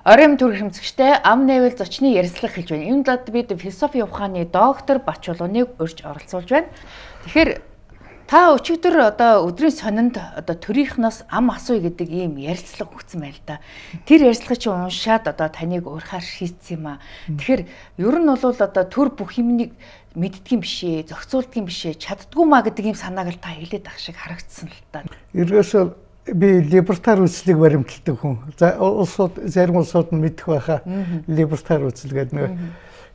Оройн төр хэмцэгчтэй ам нээвэл зочны ярилцлага хэлж байна. Энд дод бид философи ухааны доктор Бач Улууныг урьж оролцуулж байна. Тэгэхээр та өчигдөр одоо өдрийн сонинд одоо төрийнхнээс ам асууя гэдэг ийм ярилцлага өгсөн байна л да. Тэр ярилцлагыг чи уншаад одоо таныг уурхаар шийдсэн юм аа. Тэгэхээр ер нь бол одоо төр бүх юмыг мэддгийм бишээ, зохицуулдгийм бишээ, чаддгүй маа гэдэг ийм санааг л та хэлээд ах шиг харагдсан л та. Ерөөсөө би либертар үзлийг баримталдаг хүн. За зарим улсууд нь мэдэх байхаа либертар үзэл гэдэг нэг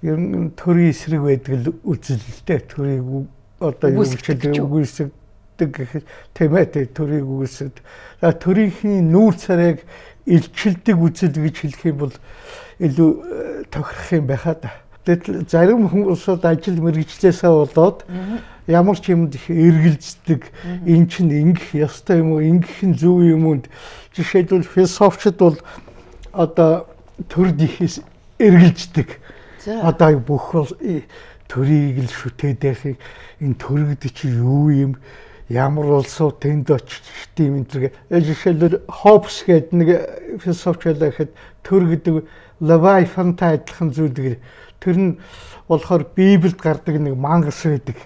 ер нь төрийн эсрэг байдаг л үзэл л дээ. Төрийг одоо юу гэж үгүйсгдэг гэх тийм ээ төрийг үгүйсгдэг. За төрийнхний нүүр царайг илчилдэг үзэл гэж хэлэх юм бол илүү тохирох юм байхаа да. Гэтэл зарим хүмүүсүүд ажил мэргэжлээсээ болоод ямар ч юмд их эргэлздэг, эн чинь ингэх ёстой юм уу, ингэх нь зөв юм уу? Жишээлбэл философчид бол одоо төрд их эргэлздэг. Одоо бүх бол төрийг л шүтээд байхыг энэ төрөгд чи юу юм? Ямар улсууд тэнд очиж тийм энэ жишээлбэл Хоббс гэдэг нэг философч байхад төр гэдэг Левиафантай адилхан зүйл. Тэр нь болохоор Библиэд гардаг нэг мангас байдаг.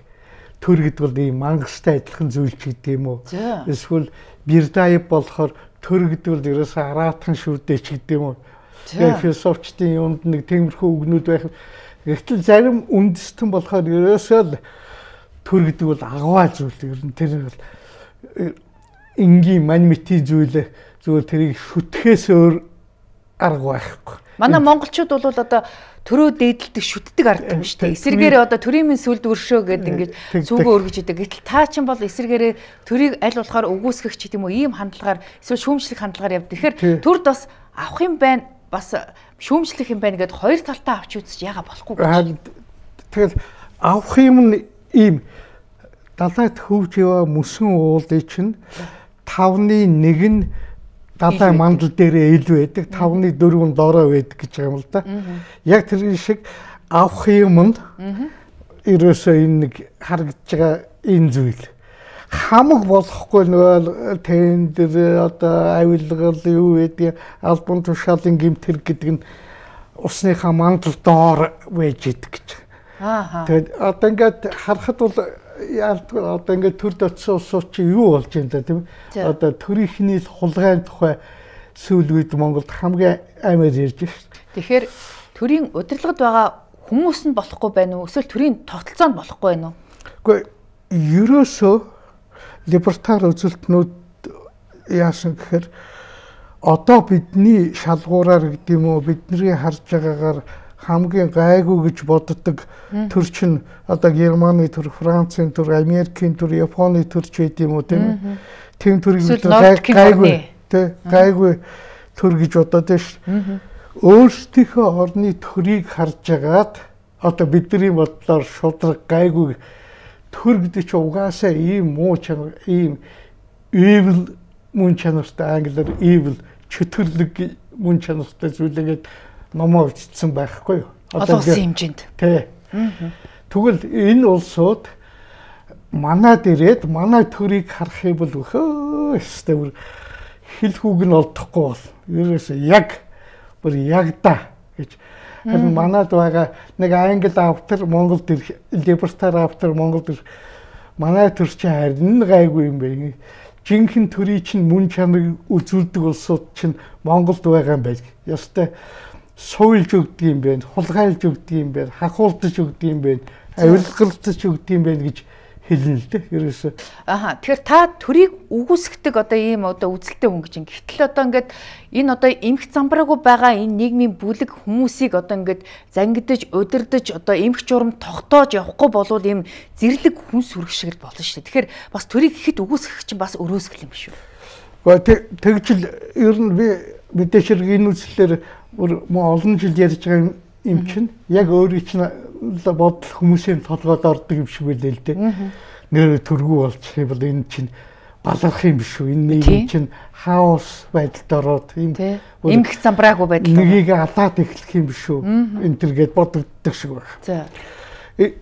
Төр гэдэг бол ийм мангастай адилхан зүйл ч гэдэг юм уу? Эсвэл Бирдаев болохоор төр гэдэг бол ерөөсөө араатхан шүрдээ ч гэдэг юм уу? Тэгээ философчдын юмд нэг тиймэрхүү үгнүүд байх. Гэвч зарим үндэстэн болохоор ерөөсөө төр гэдэг бол агваа зүйл. Ер нь тэр бол энгийн манмити зүйл зүгээр тэрийг шүтгэхээс өөр арга байхгүй. Манай монголчууд бол одоо төрөө дээдэлдэг шүтдэг ард юм шүү дээ. Эсэргээр одоо төрийн минь сүлд өршөө гэдэг ингэж зүгөө өргөж идэг. Гэтэл та чинь бол эсэргээрээ төрийг аль болохоор үгүйсгэх ч гэдэм үү ийм хандлагаар эсвэл шүүмжлэх хандлагаар явдаг. Тэгэхээр төрд бас авах юм байна, бас шүүмжлэх юм байна гэдээ хоёр талтаа авч үзэж яага болохгүй гэж. Тэгэхээр авах юм нь ийм далайд хөвж яваа мөсөн уулын чинь 5-1 нь далай мандал дээрээ ил байдаг, 5-4 нь доороо байдаг гэж байгаа юм л да. Яг тэр шиг авах юм нь ерөөсөө энэ нэг харагдж байгаа энэ зүйл. Хамаг болохгүй нөгөө тендер одоо авилгал юу гэдэг албан тушаалын гэмтэр гэдэг нь усныхаа мандал доор байж идэг гэж. Тэгээд одоо ингээд харахад бол одоо ингээд төрд очсон улсууд чи юу болж юм да тийм ээ. Одоо төрийнхний хулгайн тухай сүүл үед Монголд хамгийн амар ярьж байна. Тэгэхээр төрийн удирдлагад байгаа хүмүүс нь болохгүй байна уу? Эсвэл төрийн тогтолцоонд болохгүй байна уу? Гэхдээ ерөөсөө либертар үзэлтнүүд яасан гэхээр одоо бидний шалгуураар гэдэг юм уу бидний харж байгаагаар хамгийн гайгүй гэж боддог төр чинь одоо Германы төр, Францын төр, Америкийн төр, Японы төр ч гэдэг юм уу тийм ээ. Тэм төрийг гайгүй тий гайгүй төр гэж бодоод байна шүү. Өөрсдийнхөө орны төрийг харж агаад одоо бидний бодлоор шудраг гайгүй төр гэдэг чинь угаасаа ийм муу чанар, ийм evil мөн чанартай англиар evil чөтгөрлөг мөн чанартай зүйлээгээд номоо бичсэн байхгүй юу? Олон улсын хэмжээнд. Тий. Тэгвэл энэ улсууд манад ирээд манай төрийг харах юм бол өөхөөстэй хэл хүүг нь олдохгүй бол ерөөсөө яг бүр ягда гэж. Харин манад байгаа нэг англи автор Монголд ирэх либертар автор Монголд ирэх манай төр чинь харин гайгүй юм бэ. Жинхэнэ төрийн чинь мөн чанарыг үзүүлдэг улсууд чинь Монголд байгаа юм байг. Ястай суйлж өгдөг юм байна, хулгайлж өгдөг юм байна, хахуулдаж өгдөг юм байна, авилгалдаж өгдөг юм байна гэж хэлнэ л дээ. Ерөөсөө. Тэгэхээр та төрийг үгүйсгдэг одоо ийм одоо үзэлтэй хүн гэж. Гэтэл одоо ингээд энэ одоо эмх замбраагүй байгаа энэ нийгмийн бүлэг хүмүүсийг одоо ингээд зангидаж, удирдах одоо эмх журам тогтоож явахгүй болвол ийм зэрлэг хүн сүрэг шиг л болно шүү дээ. Тэгэхээр бас төрийг ихэд үгүйсгэх чинь бас өрөөсгөл юм биш үү? Гэхдээ тэгжил ер нь би мэдээж энэ үзлэлээр олон жил ярьж байгаа юм чинь яг өөрийн чинь бодол хүмүүсийн толгойд ордог юм шиг байлээ л дээ. Нэр төргүү болчих юм бол энэ чинь баларх юм биш үү? Энэ нийгэм чинь хаос байдалд ороод эмх замбраагүй байдал. Нэгийг алаад эхлэх юм биш үү? Энэ төргээд бодогддог шиг байна. За.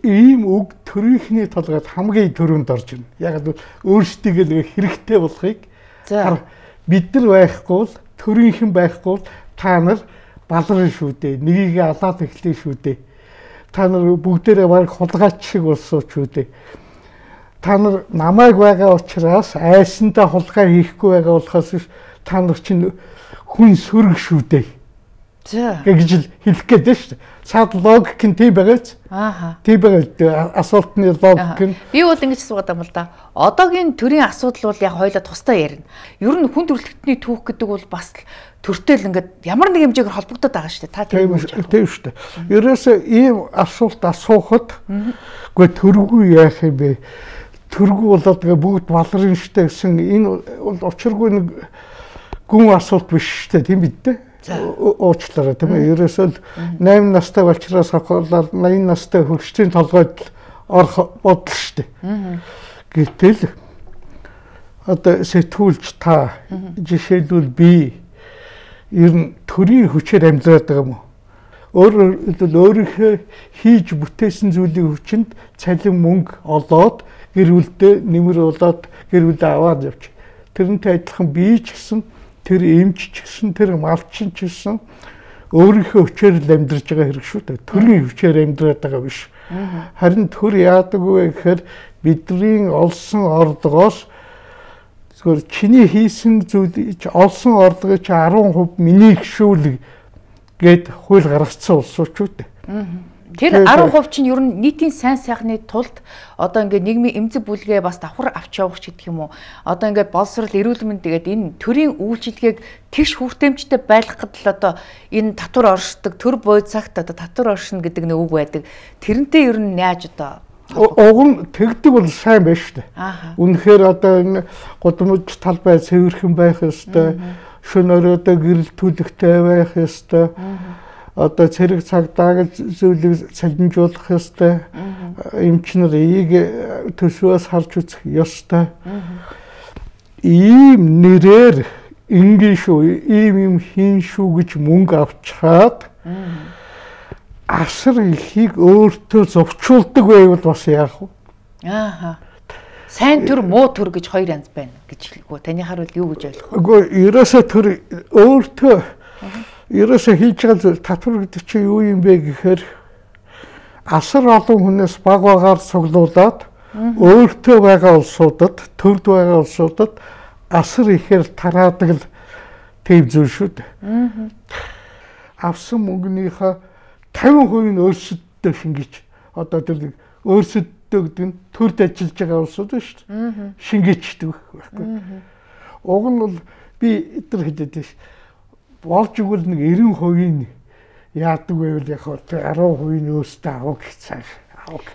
Ийм үг төрийнхний толгойд хамгийн төрөнд орж ирнэ. Яг л өөрсдийгөө нэг хэрэгтэй болохыг бид нар байхгүй бол төрийнхэн байхгүй бол та нар балрын шүү дээ. Нэгийг алаад эхлэв шүү дээ. Та нар бүгдээрээ баг хулгайч шиг болсоо шүү дээ. Та нар намайг байгаа учраас айсандаа хулгай хийхгүй байгаа болохоос та нар чинь хүн сөрөг шүү дээ. За. Гэж хэлэх гээд байна шүү дээ. Цаад логик нь тийм байгаач. Ааха. Тийм байгаа асуултны логик нь. Би бол ингэж суугаад юм л да. Одоогийн төрийн асуудал бол яг хоёлаа тусдаа ярина. Ер нь хүн төрөлхтний түүх гэдэг бол бас төртөл ингээд ямар нэг хэмжээгээр холбогдоод байгаа шүү дээ. Та тийм үү? Тийм шүү дээ. Ерөөсөө ийм асуулт асуухад үгүй төргүй яах юм бэ? Төргүй болоод бүгд балрын штэ гэсэн энэ бол учиргүй нэг гүн асуулт биш штэ тийм бидтэй. Уучлаарай тийм ээ. Ерөөсөө 8 настай болчроос хавхуулаад 80 настай хөгжлийн толгойд орох бодол штэ. Гэтэл одоо сэтгүүлч та жишээлбэл би ер нь төрийн хүчээр амьдраад байгаа юм уу? Өөрийнхөө хийж бүтээсэн зүйлийн хүчинд цалин мөнгө олоод гэр бүлдээ нэмэр болоод гэр бүлээ аваад явж. Тэрнтэй адилхан би ч гэсэн тэр эмч ч гэсэн тэр малчин ч гэсэн өөрийнхөө хүчээр л амьдарч байгаа хэрэг шүү дээ. Төрийн хүчээр амьдраад байгаа биш. Харин төр яадаг вэ гэхээр бидний олсон орлогоос зөвхөн чиний хийсэн зүйл олсон орлогын 10% миний гişүүл гэд хууль гаргацсан улсууд шүү дээ. Тэр 10% чинь ер нь нийтийн сайн сайхны тулд одоо ингээд нийгмийн эмзэг бүлгээ бас давхар авч явах ч гэдэг юм уу. Одоо ингээд боловсрол эрүүл мэнд тэгээд энэ төрийн үйлчилгээг тэгш хүртээмжтэй байлгахад л одоо энэ татвар оршдог төр бой цагт одоо татвар оршино гэдэг нэг үг байдаг. Тэрнтэй ер нь яаж одоо уг нь тэгдэг бол сайн байна шүү дээ. Үнэхээр одоо энэ гудамж талбай цэвэрхэн байх ёстой. Шөнө өрөөдөө гэрэл түлхтэй байх ёстой. Одоо цэрэг цагдаа зүйлийг цалинжуулах ёстой. Эмч нар эийг төсвөөс харж үзэх ёстой. Ийм нэрээр ингийн шүү, ийм хийн шүү гэж мөнгө авчаад асар ихийг өөртөө зовчулдаг байвал бас яах вэ? Сайн төр муу төр гэж хоёр янз байна гэж хэлгүү. Таны харуул юу гэж ойлгох вэ? Үгүй ерөөсөө төр өөртөө ерөөсөө хийж байгаа зүйл татвар гэдэг чинь юу юм бэ гэхээр асар олон хүнээс баг багаар цуглуулад өөртөө байгаа улсуудад, төрд байгаа улсуудад асар ихээр тараадаг л тийм зүйл шүү дээ. Авсан мөнгөнийхөө 50% нь өөрсөддөө шингэж одоо тэр өөрсөддөө гэдэг нь төрд ажиллаж байгаа улсууд шүү дээ. Шингээчдэг байхгүй. Уг нь бол би өдөр хэлээд байна. Болж игэл нэг 90% нь яадаг байвал яг 10% нь өөртөө авах гэж авах.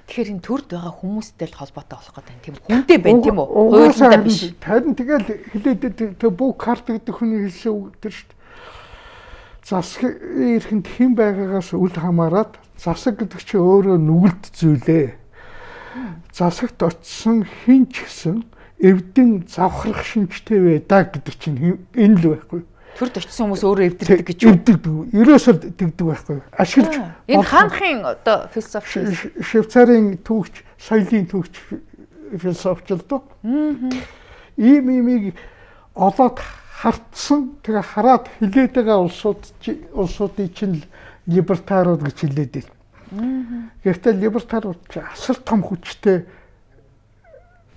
Тэгэхээр энэ төрд байгаа хүмүүстэй л холбоотой болох гэдэг тийм хүнтэй байна тийм үү? Хуйлтай биш. Харин тэгэл хэлээд тэр бүх карт гэдэг хүний хэлсэн үг тэр шүү дээ. Засаг ирэхэнд хэн байгаагаас үл хамааран засаг гэдэг чинь өөрөө нүгэлт зүйлээ. Засагт очисон хэн ч гэсэн эвдэн завхрах шинжтэй байдаа гэдэг чинь энэ л байхгүй. Төрд очисон хүмүүс өөрөө эвдэрдэг гэж юу? Ерөөсөө тэгдэг байхгүй. Ашиглаж энэ хаанхын одоо философи Швейцарын түүхч, соёлын түүхч философч л доо. Ийм имийг олоод хартсан тэгээ хараад хилээд байгаа улсуудын чинь либертарууд гэж хэлээд байна. Гэхдээ либертарууд асар том хүчтэй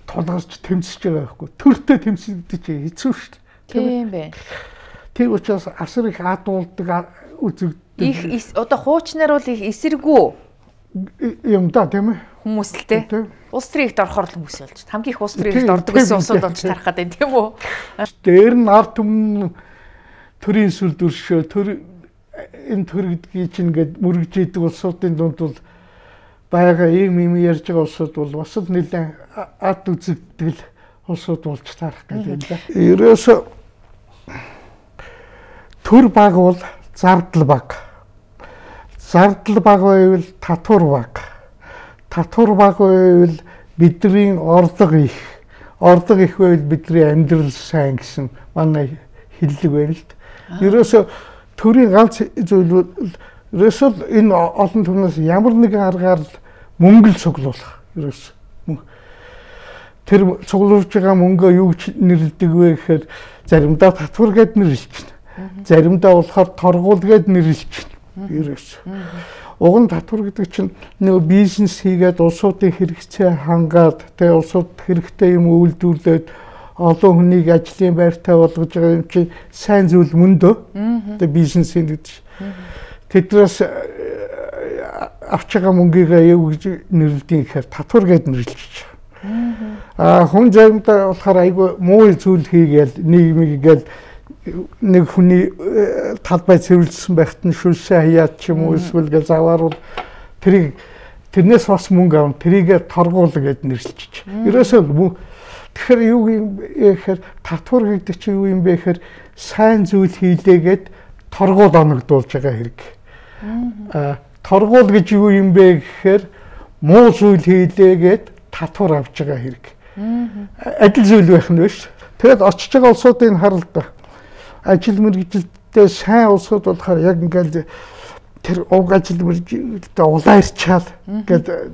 тулгарч тэмцэж байгаа байхгүй. Төртөө тэмцэгдэж хэцүү шүү дээ. Тийм байна. Тийм учраас асар их адуулдаг үзэгддэг. Их одоо хуучнаар бол их эсэргүү юм да тийм ээ. Хүмүүс л те. Улс төрийн ихд орохоор л хүмүүс болж. Хамгийн их улс төрийн ихд ордог гэсэн улсууд болж тарах гэдэг тийм үү? Дээр нь ард түмэн төрийн сүлдөршөө энэ төр гэдгийг чинь ингээд мөрөгжийдэг улсуудын дунд бол байгаа ийм ярьж байгаа улсууд бол бас л нэлээд ад үзэгдэл улсууд болж тарах гэдэг юм да. Ерөөсөө төр баг бол зардал баг. Зардал баг байвал татвар баг. Татвар баг байвал бидний орлого их. Орлого их байвал бидний амьдрал сайн гэсэн манай хэллэг байна л да. Ерөөсөө төрийн ганц зүйл ерөөсөө энэ олон түмнээс ямар нэгэн аргаар мөнгө л цуглуулах. Ерөөсөө тэр цуглуулж байгаа мөнгөө юу гэж нэрлэдэг вэ гэхээр заримдаа татвар гэд нэрлэж байна. Заримдаа болохоор торгуул гээд нэрлэлчихнэ. Ерөөс. Уг нь татвар гэдэг чинь нөгөө бизнес хийгээд улсуудын хэрэгцээ хангаад тэгээ улсууд хэрэгтэй юм үйлдвэрлээд олон хүнийг ажлын байртай болгож байгаа юм чи сайн зүйл мөндөө. Тэгээ бизнес гэдэг чинь. Тэднээс авч байгаа мөнгөийгээ юу гэж нэрлэдэг гэхээр татвар гээд нэрлэж байгаа. Хүн заримдаа болохоор айгүй муу зүйл хийгээл нийгмийг гээл нэг хүний талбай цэвэрлсэн байхад нь шүлшээ хаяад ч юм уу эсвэл гээл завааруул тэрнээс бас мөнгө авна тэрийгээ торгуул гээд нэрлэж байгаа. Ерөөсөө тэгэхээр юу юм гэхээр татвар гэдэг чинь юу юм бэ гэхээр сайн зүйл хийлээгээд торгуул оногдуулж байгаа хэрэг. Торгуул гэж юу юм бэ гэхээр муу зүйл хийлээгээд татвар авч байгаа хэрэг. Адил зүйл байх нь биш. Тэгэд очиж байгаа улсуудыг харал да. Ажил мэргэжилттэй сайн улсууд болохоор яг ингээл тэр уг ажил мэргэжилттэй улаарчаал гэдэг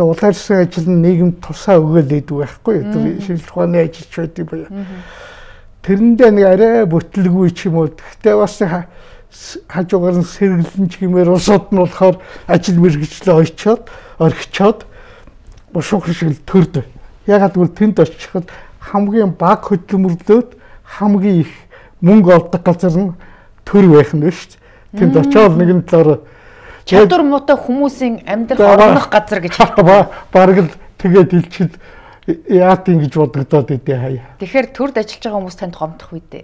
улаарсан ажил нь нийгэмд тусаа өгөөл идэг байхгүй. Тэр шинжилгээ ухааны ажилч байдаг бая. Тэрэндээ нэг арай бүтлгүй ч юм уу. Гэхдээ бас хажуугаар нь сэргэлэн ч гэмээр улсууд нь болохоор ажил мэргэжлээ орхичоод бушуух шиг төрдөг. Ягаад гэвэл тэнд очиход хамгийн бага хөдөлмөрлөөд хамгийн их мөнгө олдог газар нь төр байх нь шүү дээ. Тэнд очиод нэгэн талаараа чадвар муутай хүмүүсийн амьдрах орнох газар гэж бараг л тэгээд хэлчихэд яат ингэж бодогдоод идэв хаяа. Тэгэхээр төрд ажиллаж байгаа хүмүүс танд гомдох үү дээ.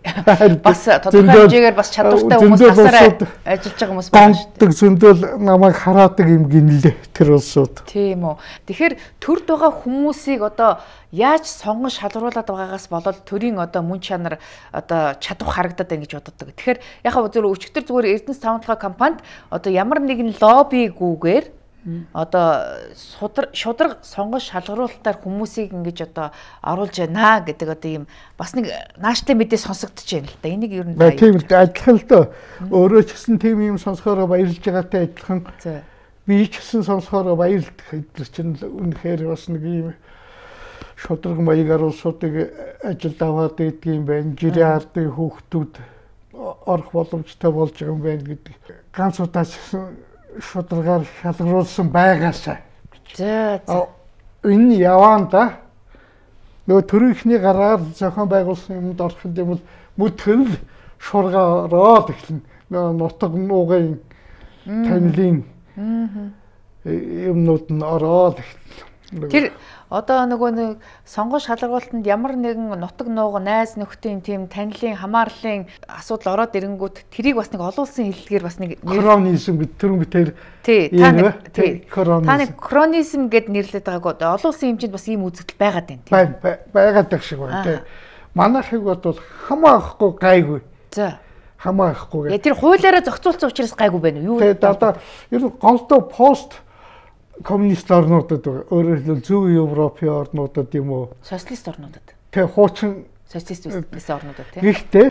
Бас тодорхой хэмжээгээр бас чадвартай хүмүүс тасаараа ажиллаж байгаа хүмүүс байна шүү дээ. Зөндөл намайг хараадаг юм гинлээ тэр улсууд. Тийм үү. Тэгэхээр төрд байгаа хүмүүсийг одоо яаж сонгон шалгаруулад байгаагаас болоод төрийн одоо мөн чанар одоо чадвар харагдаад байна гэж боддог. Тэгэхээр яг зөв өчигдөр зүгээр Эрдэнэс тавталгаа компанид одоо ямар нэгэн лоббигүйгээр одоо шудраг сонгон шалгаруулалтаар хүмүүсийг ингэж одоо оруулж байна гэдэг одоо ийм бас нэг нааштай мэдээ сонсогдож байна л да. Энийг ер нь тийм л адилхан л доо. Өөрөө ч гэсэн тийм юм сонсохоор баярлж байгаатай адилхан. Би ч гэсэн сонсохоор баярлдаг. Эдгээр чинь үнэхээр бас нэг ийм шудраг маягаар улсуудыг ажилд аваад идэх юм байна. Жирийн ардын хүүхдүүд орох боломжтой болж байгаа юм байна гэдэг. Ганц удаа шударгаар шалгаруулсан байгаасаа. За. Энэ яваан да. Нөгөө төрийнхний гараар зохион байгуулсан юмд орох юм бол мөдгөл шургаароо эхлэн нөгөө нутаг нуугын танилын юмнууд нь ороод эхэлнэ. Тэр одоо нөгөө нэг сонгон шалгаруулалтанд ямар нэгэн нутаг нууг найз нөхдийн тийм танилын хамаарлын асуудал ороод ирэнгүүт тэрийг бас нэг олон улсын хэллэгээр бас нэг кронизм гэдэг тэр үгээр та нэг кронизм гэд нэрлэдэг байгааг олон улсын хэмжээнд бас ийм үзэгдэл байгаад байна тийм байгаад байх шиг байна тийм манайхыг бол хамаахгүй гайгүй за хамаахгүй тэр хуулиараа зохицуулсан учраас гайгүй байна уу юу тэгээд одоо ер нь голдоо пост коммунист орнуудад өөрөөр хэлбэл зөв Европын орнуудад юм уу? Социалист орнуудад. Тэг хуучин социалист орнуудад тийм. Гэхдээ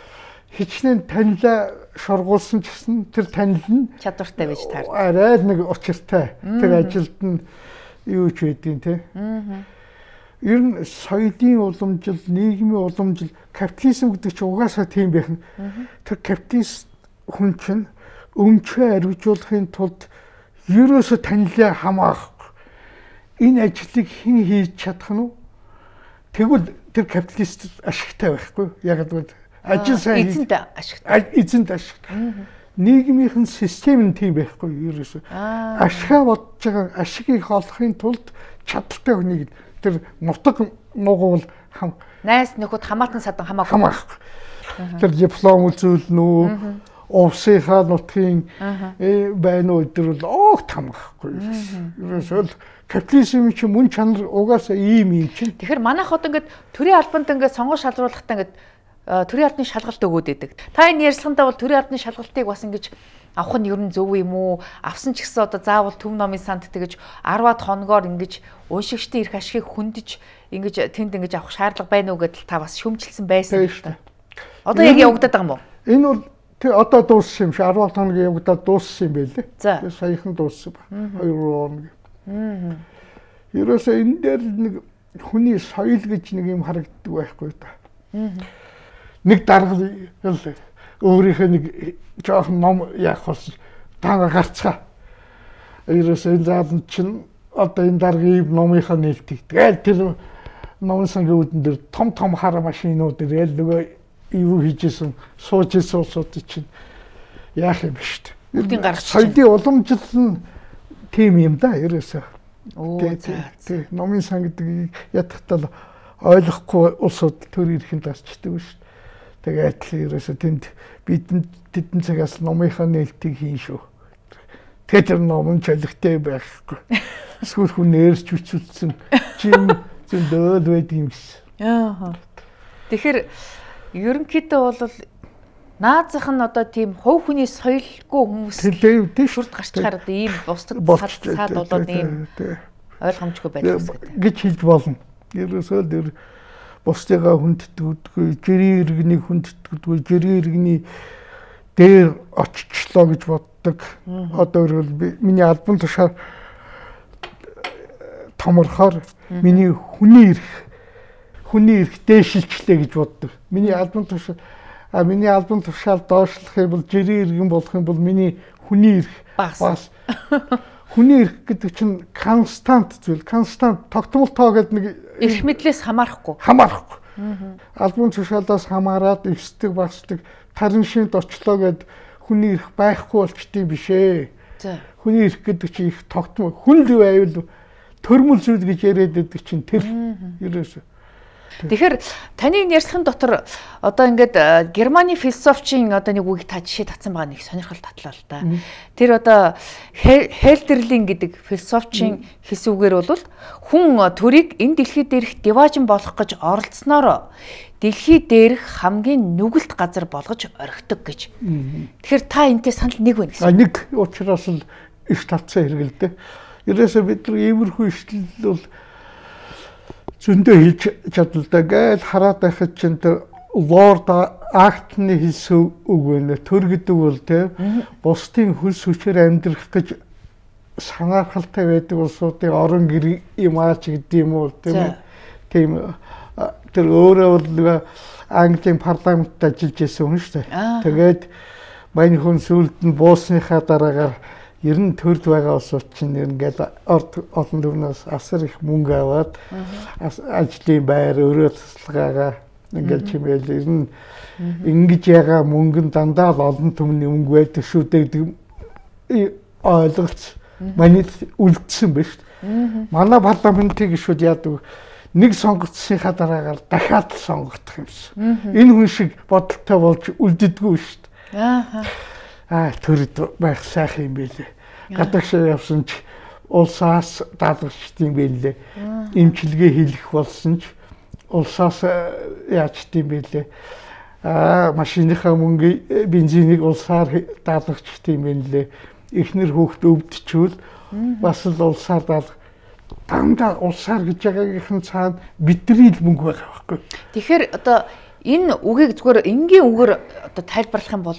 хичнээн танилаа шургуулсан ч гэсэн тэр танил нь чадвартай байж таардаг. Арай нэг учиртай. Тэр ажилд нь юу ч байдیں۔ Тэ. Ер нь соёлын уламжил, нийгмийн уламжил, капитализм гэдэг чинь угаасаа тийм байх нь. Тэр капиталист хүн чинь өмчөө арвижуулахын тулд ерөөсө танилаа хамаахгүй. Энэ ажлыг хэн хийж чадах нь вэ? Тэгвэл тэр капиталист ашигтай байхгүй. Яг л ажил сайн эзэнт ашигтай. Эзэнт ашигтай. Нийгмийнхэн систем нь тийм байхгүй ерөөсө. Ашгаа бодож байгаа ашигыг олохын тулд чадaltaй хүнийг тэр нутаг нуугуул найс нөхөд хамаатан садан хамаагүй. Тэр диплом үзүүлнэ үү? Овсынхаа нутгийн байна уу гэдэг бол огт хамаахгүй. Ерөөсөө капитализм чинь мөн чанар угаасаа ийм юм чинь. Тэгэхээр манайх одоо ингээд төрийн албанд ингээд сонгон шалгаруулахдаа ингээд төрийн албаны шалгалт өгөөд байдаг. Та энэ ярилцлагандаа бол төрийн албаны шалгалтыг бас ингэж авах нь ер нь зөв юм уу? Авсан ч гэсэн одоо заавал төв номын санд тэгэж 10-аад хоногоор ингэж уншигчдын эрх ашигыг хөндөж ингэж тэнд ингэж авах шаардлага байна уу гэдэл та бас шүмжилсэн байсан л та. Одоо яг явагдаад байгаа юм уу? Энэ бол тэр одоо дууссан юм шиг 10 хоногийн явагдаад дууссан юм байлээ. За. Саяхан дууссан ба. 2 хоног. Ерөөсөө энэ дээр нэг хүний соёл гэж нэг юм харагддаг байхгүй та. Нэг дарга өөрийнхөө нэг жоохон ном яах болсон таа гарцгаа. Ерөөсөө энэ заалан чинь одоо энэ дараагийн номынхаа нээлтийг. Тэгэл тэр номын сангийн үүдэн дээр том хар машинууд ирэл нөгөө юу хийжсэн сууж исэн улсууд чинь яах юм бэ шүү дээ. Бүгдийг гаргаж соёлын уламжлал нь тийм юм да ерөөсөө. Тий. Номын сан гэдэг ятгатал ойлгохгүй улсууд төр ирэхэд гарчдаг шүү дээ. Тэгээд л ерөөсөө тэнд тэдэн цагаас номынхаа нээлтийг хийн шүү. Тэгээд тэр ном нь чөлөгтэй байхгүй. Эсвэл хүн нэрч үчүүлсэн чим зөндөл байдаг юм шиг. Аа. Тэгэхээр ерөнхийдөө бол наазах нь одоо тийм хувь хүний соёлгүй хүмүүс шүрд гарчгаар одоо ийм бусдад цаад болоод ийм ойлгомжгүй байдаг гэж хэлж болно. Ерөөсөө тэр бусдыгаа хүндэтгдэггүй, жирийн иргэнийг хүндэтгдэггүй, жирийн иргэний дээр очичлоо гэж боддог. Одоо миний албан тушаар томорхоор миний хүний эрх дээшилчлээ гэж боддог. Миний албан тушаал доошлох юм бол жирийн иргэн болох юм бол миний хүний эрх бас хүний эрх гэдэг чинь констант зүйл. Констант тогтмол тоо гэдэг нэг эрх мэдлээс хамаарахгүй. Албан тушаалаас хамаарад өсдөг багасдаг тарин шинд очлоо гэд хүний эрх байхгүй болчтой биш ээ. Хүний эрх гэдэг чинь их тогтмол. Хүн л байвал төрмөл зүйл гэж яриад байдаг чинь тэр ерөөсөө. Тэгэхээр таны ярьслахын дотор одоо ингээд Германы философчийн одоо нэг үгийг та жишээ татсан байгаа нэг сонирхол татлаа л да. Тэр одоо Хельдерлин гэдэг философчийн хэсүүгээр бол хүн төрийг энэ дэлхий дээрх диважин болох гэж оролцсноор дэлхий дээрх хамгийн нүгэлт газар болгож орхидог гэж. Тэгэхээр та энэтэй санал нэг байна гэсэн. Нэг учраас л иш тавцсан хэрэгэлдэ. Ерөөсөө бид нар иймэрхүү ишлэл бол зөндөө хийж чадлагдаг гэж хараад байхад чинь тэр Lord Acton-ы хэлсэн үг байна. Төр гэдэг бол тийм бусдын хөлс хүчээр амьдрах гэж санаахалтай байдаг улсуудын орон гэр юм аач гэдэг юм уу тийм тэр өөрөө бол Английн парламентд ажиллаж байсан хүн шүү дээ. Тэгээд мань хүн сүлд нь буусныхаа дараагаар ер нь төрд байгаа улсууд чинь ингээд олон төрнөөс асар их мөнгө аваад ажлын байр өрөө тасалгаагаа ингээд чимээл ер нь ингэж ягаа мөнгө нь дандаа л олон түмний мөнгө байдаг шүү дээ ойлголц манайд үлдсэн байна шүү дээ. Манай парламентын гишүүд яадаг нэг сонгогдсныхаа дараагаар дахиад сонгогдох юмсан. Энэ хүн шиг бодолтой болж үлддэггүй шүү дээ. Төрд байх сайхан юм байлээ. Гадагшаа явсан ч улсаас даалгачдсан байлээ. Эмчилгээ хийх болсон ч улсаас яачдсан байлээ. Машиныхаа мөнгө бензинийг улсаар даалгачдсан байлээ. Эхнэр хүүхд өвдчихвэл бас л улсаар дандаа улсаар гэж байгаагийнхэн цаана бидний л мөнгө байгаа байхгүй. Тэгэхээр одоо энэ үгийг зүгээр энгийн үгээр одоо тайлбарлах юм бол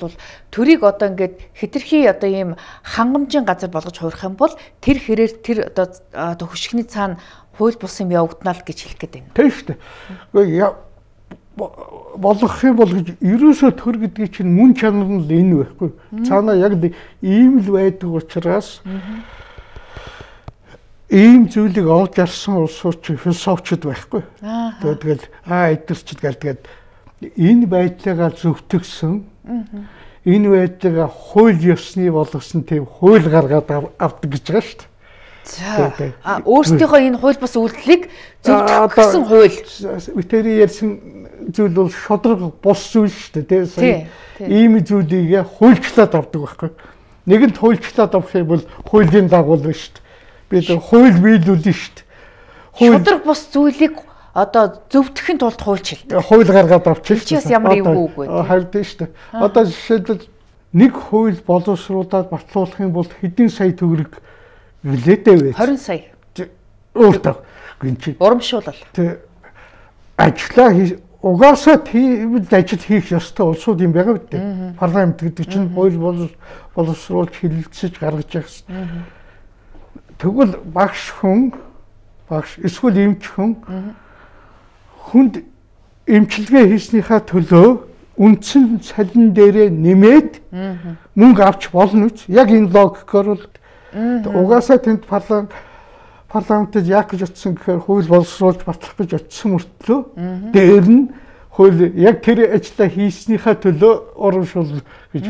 төрийг одоо ингээд хэтэрхий одоо ийм хангамжийн газар болгож хуурах юм бол тэр хэрээр тэр одоо хөшгөний цаана хууль бус юм явагдана л гэж хэлэх гээд байна. Тийм шүү дээ. Болгох юм бол гэж ерөөсөө төр гэдгийг чинь мөн чанар нь л энэ байхгүй. Цаанаа яг ийм л байдаг учраас ийм зүйлийг олж арсан улсууд чи философчд байхгүй. Тэгэл эдгэрчд гэлдгээд энэ байдлаагаа зөвтгсөн энэ байдлаагаа хууль ёсны болгосон тийм хууль гаргаад авдаг гэж байгаа шүү дээ. За өөрсдийнхөө энэ хууль бус үйлдэлийг зөвтгсөн хууль. Витери ярьсан зүйл бол шодрог бус зүйл шүү дээ тийм. Ийм зүйлийг хуульчлаад авдаг байхгүй. Нэгэнт хуульчлаад авах юм бол хуулийн дагуу л шүү дээ. Бид хууль биелүүлнэ шүү дээ. Шодрог бус зүйлийг одоо зөвтгөхийн тулд хуульч хэлдэг. Хууль гаргаад авчихсан. Чиээс ямар эвгүй үг вэ? Харин шүү дээ. Одоо жишээлбэл нэг хууль боловсруулаад батлуулах юм бол хэдэн сая төгрөг нэлээдэй вэ? 20 сая. Өөртөө гинчи. Урамшуулал. Тэ ажлаа угаасаа тийм ажил хийх ёстой улсууд юм байгаа үү? Парламент гэдэг чинь хууль боловсруулж хэлэлцэж гаргаж явах. Тэгвэл багш эсвэл эмч хүн хүнд эмчилгээ хийснийхаа төлөө үндсэн салин дээрээ нэмээд мөнгө авч болно үз. Яг энэ логикоор бол угаасаа тэнд парламентд яг гэж утсан гэхээр хууль боловсруулж батлах гэж утсан мөртлөө дээр нь хууль яг тэр ажлаа хийснийхаа төлөө урамшуул гэж.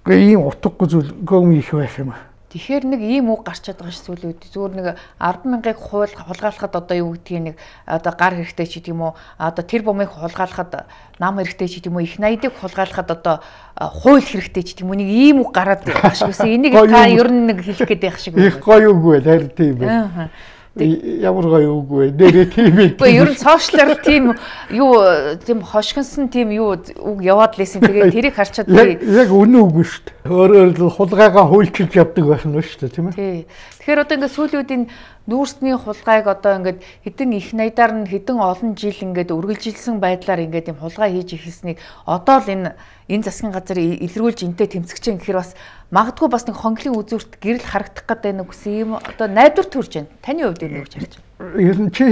Гэхдээ ийм утгагүй зүйл гом их байх юм аа. Тэгэхээр нэг ийм үг гарч чадбайгаа ш зүйлүүд зүгээр нэг 100000-ыг хулгайлахад одоо юу гэдгийг нэг одоо гар хэрэгтэй ч гэдэг юм уу одоо тэр бомыг хулгайлахад нам хэрэгтэй ч гэдэг юм уу их 80-ыг хулгайлахад одоо хууль хэрэгтэй ч гэдэг юм уу нэг ийм үг гараад байх шиг байсан. Энийг та ер нь нэг хэлэх гээд байх шиг байна. Их гоё үг байл харин тийм байна. Ямар гоё үг вэ? Нэрээ тийм ээ. Гэхдээ ер нь сошиалар тийм юу тийм хошгинсон тийм юу үг яваад лээсэн. Тэгээд тэрийг харчаад би яг үнэн үг шүү дээ. Өөрөөр хулгайгаа хуульчилж явдаг байх нь шүү дээ, тийм ээ. Тий. Тэгэхээр одоо ингээд сүүлийн нүүрсний хулгайг одоо ингээд хэдэн их найдаар нь хэдэн олон жил ингээд үргэлжилсэн байдлаар ингээд юм хулгай хийж ихэлснийг одоо л энэ засгийн газар илрүүлж энтэй тэмцэж чинь гэхээр бас магадгүй бас нэг хонглын үзүүрт гэрэл харагдах гэдэг нэг үс юм одоо найдвар төрж байна. Таны хувьд энэ юу гэж харж байна? Ер нь чи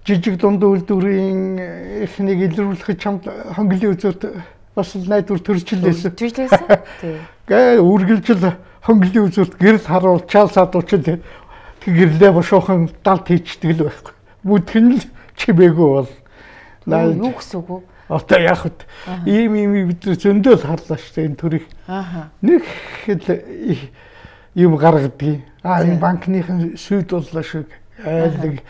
жижиг дунд үйлдвэрийн эхнийг илрүүлэх чамд хонглын үзүүрт бас найдвар төрж лээсэн. Төрж лээсэн. Тий. Гэ үргэлжил хонглын үзүүрт гэрэл харуулчаал садуучил гэрлээ бошоохон далд хийчдэг л байхгүй. Бүдгэн л чимээгүй бол. Юу гэсэн үг вэ? Одоо яг хөө ийм бид зөндөө харлаа шүү дээ энэ төрийг. Нэг юм гаргадгийг. Энэ банкныхын сүйд боллоо шиг айлг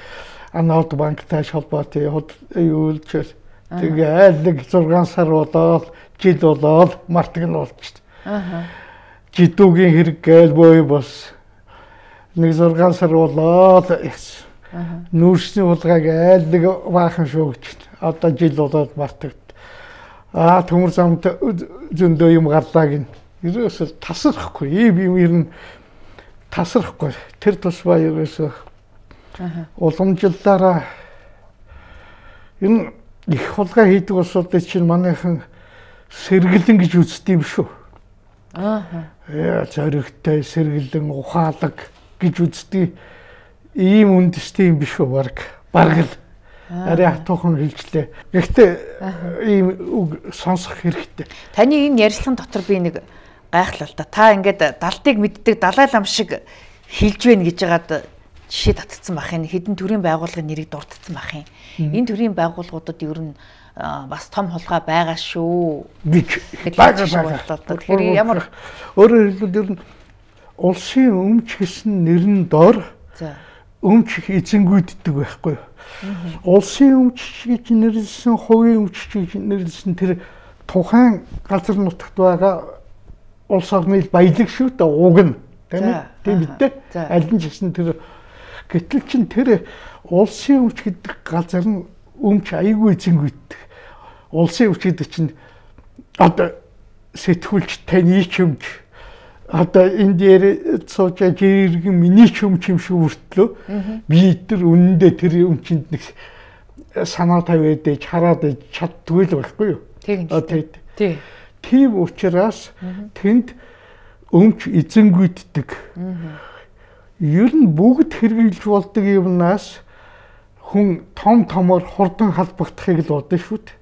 анаад банктай холбоотой юулчээс тэгээ айлг 6 сар болоод жил болоод мартаг нь болчихсон. Жидүүгийн хэрэг гээл бой бос нэг 6 сар болоод нүүрсний хулгайг айлг баахан шуугч. Одоо жил болоод мартагд. Төмөр замд зөндөө юм гарлаа гин. Ерөөсөө тасрахгүй. Ийм ер нь тасрахгүй. Тэр тусбаа ерөөсөө уламжлалаараа энэ их хулгай хийдэг улсуудад чинь манайхан сэргэлэн гэж үздэг юм шүү. Зоригтой сэргэлэн ухаалаг гэж үздэг. Ийм үндэстэй юм биш үү бараг л. Арай хатуухан хэлжлээ. Гэхдээ ийм үг сонсох хэрэгтэй. Таны энэ ярилцлагын дотор би нэг гайхлаа л да. Та ингээд далдыг мэддэг Далай лам шиг хэлж байна гэж байгаад жишээ татцсан бах юм. Хэдэн төрлийн байгууллагын нэрийг дурдсан бах юм. Энэ төрлийн байгууллагуудад ер нь бас том хулгай байгаа шүү гэж байгаа. Тэгэхээр ямар өөрөөр хэлбэл ер нь улсын өмч гэсэн нэрн дор өмч эзэнгүйддэг байхгүй юу? Улсын өмч гэж нэрлсэн, хувийн өмч гэж нэрлсэн тэр тухайн газар нутагт байгаа улс орны баялаг шүү дээ уг нь. Тийм үү? Аль нь ч гэсэн тэр гэтэл чин тэр улсын өмч гэдэг газар нь өмч аягүй эзэнгүйддэг. Улсын өмч гэдэг чинь одоо сэтгүүлч таны ч өмч одоо энэ дээр сууж жиргэн миний ч юм шиг хүртлөө би тэр үнэндээ тэр өмчөнд нэг санаа тавиад ээж хараад ээж чаддгүй л байхгүй юу. Тийм учраас тэнд өмч эзэнгүйддэг. Ер нь бүгд хэрэгжилж болдог юмнаас хүн томор хурдан халбагдахыг л бодно шүү дээ.